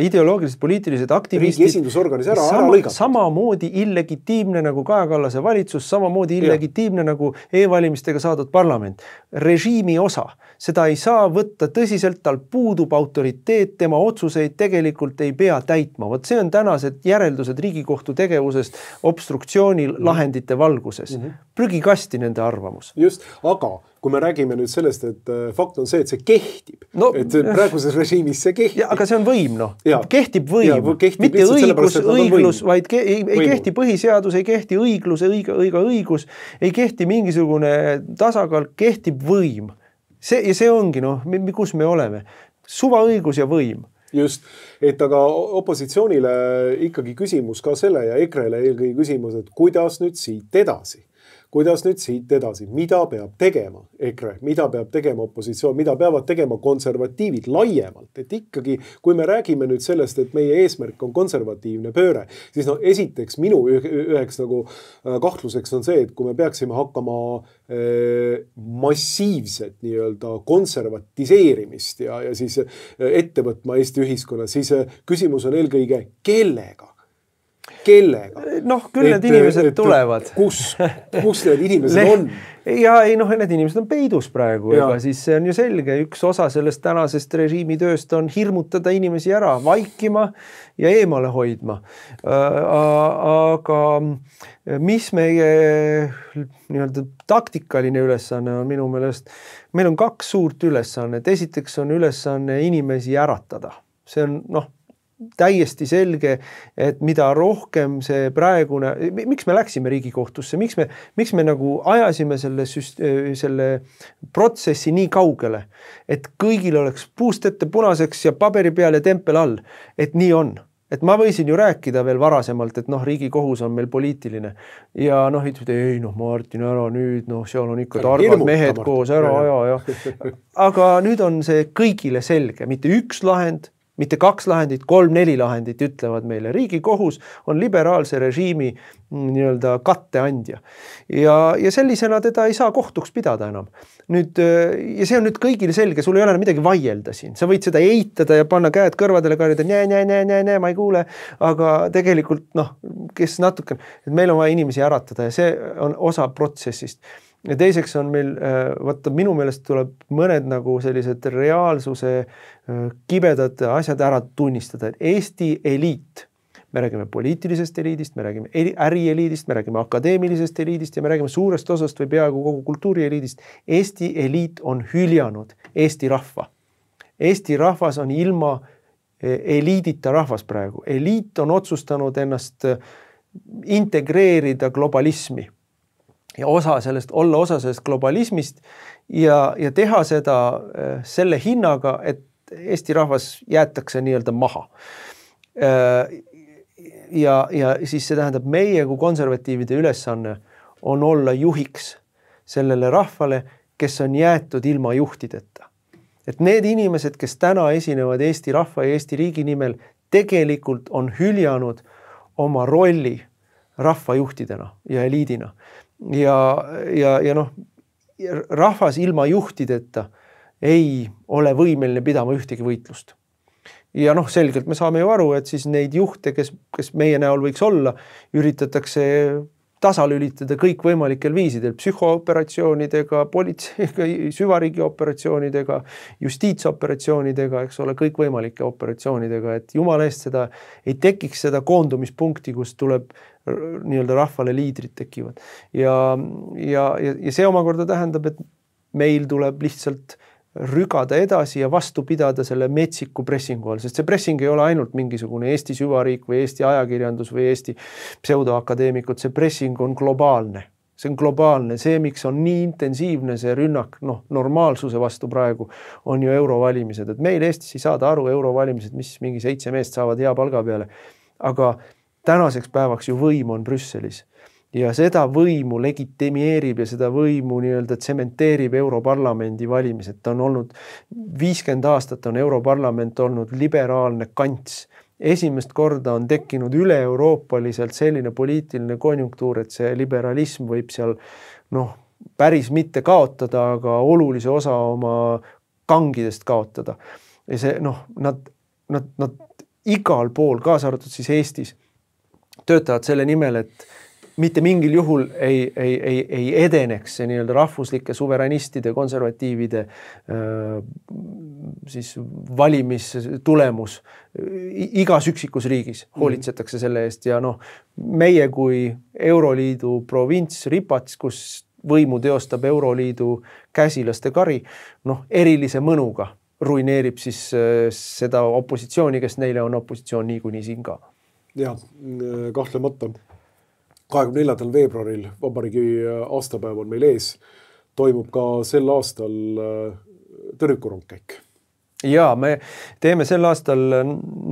ideoloogilised poliitilised aktivistid. Riigi esindusorganis ära lõigata. Samamoodi illegitiimne nagu Kaja Kallase valitsus, samamoodi illegitiimne nagu e-valimistega saadud parlament. Režiimi osa. Seda ei saa võtta tõsiselt, tal puudub autoriteet, tema otsuseid tegelikult ei pea täitma. See on tänased järeldused Riigikohtu tegevusest obstruktsiooni lahendite valguses. Prügikasti nende arvamus. Just, aga kui me räägime nüüd sellest, et fakt on see, et see kehtib. Et praeguses režiimis see kehtib. Aga see on võim, Kehtib võim. Mitte õiglus, vaid ei kehti põhiseadus, ei kehti õiglus, õigus, ei kehti mingisugune tasakaal, kehtib võim. Ja see ongi, kus me oleme. Suvaõigus ja võim. Just, et aga opositsioonile ikkagi küsimus ka selle ja EKRE-le eelkõige küsimus, et kuidas nüüd siit edasi? Mida peab tegema EKRE, mida peab tegema opositsioon, mida peavad tegema konservatiivid laiemalt, et ikkagi, kui me räägime nüüd sellest, et meie eesmärk on konservatiivne pööre, siis esiteks minu üheks kahtluseks on see, et kui me peaksime hakkama massiivset nii-öelda konservatiseerimist ja siis ette võtma Eesti ühiskonnas, siis küsimus on eelkõige kellega? Küll need inimesed tulevad. Kus need inimesed on? Ja need inimesed on peidus praegu, ega siis see on ju selge. Üks osa sellest tänasest režiimi tööst on hirmutada inimesi ära, vaikima ja eemale hoidma. Aga mis meie nii-öelda taktikaline ülesanne on minu meelest? Meil on 2 suurt ülesannet. Esiteks on ülesanne inimesi äratada. See on täiesti selge, et mida rohkem see praegune, miks me läksime Riigikohtusse, miks me nagu ajasime selle protsessi nii kaugele, et kõigil oleks puust ette punaseks ja paberi peal ja tempel all, et nii on. et ma võisin ju rääkida veel varasemalt, et noh, Riigikohus on meil poliitiline ja noh, ütlesid, ei noh, Martin, ära nüüd, noh, seal on ikka targad mehed koos, ära aja. Aga nüüd on see kõigile selge, mitte üks lahend, mitte 2 lahendit, 3-4 lahendit ütlevad meile. Riigikohus on liberaalse režiimi nii-öelda katteandja. Ja sellisena teda ei saa kohtuks pidada enam. Nüüd, ja see on nüüd kõigile selge, sul ei ole midagi vaielda siin. Sa võid seda eitada ja panna käed kõrvadele karjada, ma ei kuule, aga tegelikult noh, kes natuke, et meil on vaja inimesi äratada ja see on osa protsessist. Ja teiseks on meil, vaata minu meelest tuleb mõned nagu sellised reaalsuse kibedad asjad ära tunnistada, et Eesti eliit, me räägime poliitilisest eliidist, me räägime ärieliidist, me räägime akadeemilisest eliidist ja me räägime suurest osast või peaaegu kogu kultuurieliidist. Eesti eliit on hüljanud Eesti rahva. Eesti rahvas on ilma eliidita rahvas praegu. Eliit on otsustanud ennast integreerida globalismi. Ja olla osa sellest globalismist ja teha seda selle hinnaga, et Eesti rahvas jäetakse nii-öelda maha. Ja siis see tähendab meie kui konservatiivide ülesanne on olla juhiks sellele rahvale, kes on jäetud ilma juhtideta. Et need inimesed, kes täna esinevad Eesti rahva ja Eesti riigi nimel, tegelikult on hüljanud oma rolli rahvajuhtidena ja eliidina. Ja noh, rahvas ilma juhtideta ei ole võimeline pidama ühtegi võitlust. Ja noh, selgelt me saame ju aru, et siis neid juhte, kes meie näol võiks olla, üritatakse tasalülitada kõik võimalikel viisidel, psühhooperatsioonidega, politseiga, süvariigi operatsioonidega, justiitsoperatsioonidega, eks ole, kõik võimalike operatsioonidega, et jumala eest seda ei tekiks seda koondumispunkti, kus tuleb nii-öelda rahvale liidrid tekivad. Ja see omakorda tähendab, et meil tuleb lihtsalt rügada edasi ja vastu pidada selle metsiku pressingu all, sest see pressing ei ole ainult mingisugune Eesti süvariik või Eesti ajakirjandus või Eesti pseudoakadeemikud, see pressing on globaalne. See on globaalne, see miks on nii intensiivne see rünnak, noh, normaalsuse vastu praegu on ju eurovalimised, et meil Eestis ei saada aru eurovalimised, mis mingi 7 meest saavad hea palga peale, aga tänaseks päevaks ju võim on Brüsselis. Ja seda võimu legitimeerib ja seda võimu nii-öelda tsementeerib Europarlamendi valimised. Ta on olnud 50 aastat on Europarlament olnud liberaalne kants. Esimest korda on tekkinud üle-euroopaliselt selline poliitiline konjunktuur, et see liberalism võib seal noh, päris mitte kaotada, aga olulise osa oma kangidest kaotada. Ja see noh, nad igal pool, kaasa arvatud siis Eestis, töötavad selle nimel, et mitte mingil juhul ei edeneks see nii-öelda rahvuslike suveräänistide, konservatiivide siis valimistulemus igas üksikus riigis hoolitsetakse selle eest ja noh, meie kui Euroliidu provints Ripats, kus võimu teostab Euroliidu käsilaste kari, noh, erilise mõnuga ruineerib siis seda opositsiooni, kes neile on opositsioon niikuinii siin ka. Ja, kahtlemata. 24. veebruaril vabariigi aastapäev on meil ees, toimub ka sel aastal tõrvikurongkäik. Ja me teeme sel aastal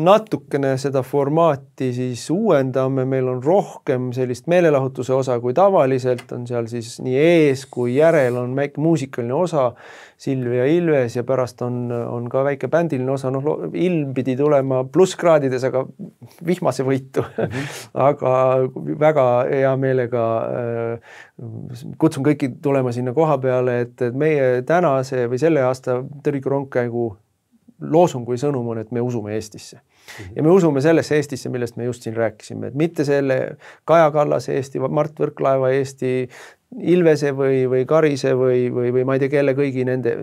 natukene seda formaati siis uuendame, meil on rohkem sellist meelelahutuse osa kui tavaliselt, on seal siis nii ees kui järel on väike muusikaline osa, Silvia Ilves ja pärast on ka väike bändiline osa, noh ilm pidi tulema plusskraadides, aga vihmase võitu, aga väga hea meelega kutsun kõiki tulema sinna koha peale, et meie tänase või selle aasta tõrvikurongkäigu loosung või sõnum on, et me usume Eestisse. Ja me usume sellesse Eestisse, millest me just siin rääkisime, et mitte selle Kaja Kallase Eesti, Mart Võrklaeva Eesti, Ilvese või Karise või ma ei tea kelle kõigi nende,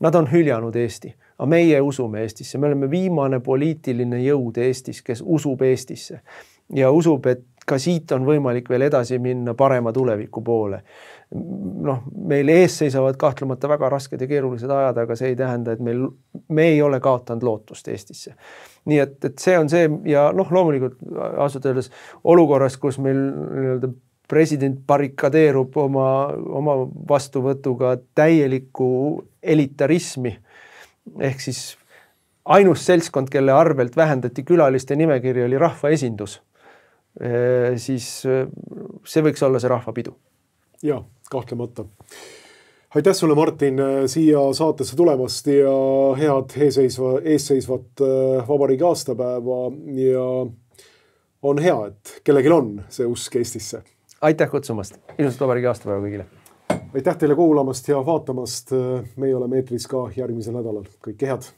nad on hüljanud Eesti, aga meie usume Eestisse, me oleme viimane poliitiline jõud Eestis, kes usub Eestisse ja usub, et ka siit on võimalik veel edasi minna parema tuleviku poole. Noh, meil ees seisavad kahtlemata väga rasked ja keerulised ajad, aga see ei tähenda, et me ei ole kaotanud lootust Eestisse. Nii et see on see ja noh, loomulikult ausalt öeldes olukorras, kus meil nii-öelda president barrikadeerub oma vastuvõtuga täielikku elitarismi ehk siis ainus seltskond, kelle arvelt vähendati külaliste nimekirja, oli rahvaesindus, siis see võiks olla see rahvapidu. Ja, kahtlemata. Aitäh sulle, Martin, siia saatesse tulemast ja head eesseisvat vabariigi aastapäeva ja on hea, et kellegil on see usk Eestisse. Aitäh kutsumast. Ilusat vabariigi aastapäeva kõigile. Aitäh teile kuulamast ja vaatamast. Meie oleme eetris ka järgmisel nädalal. Kõike head.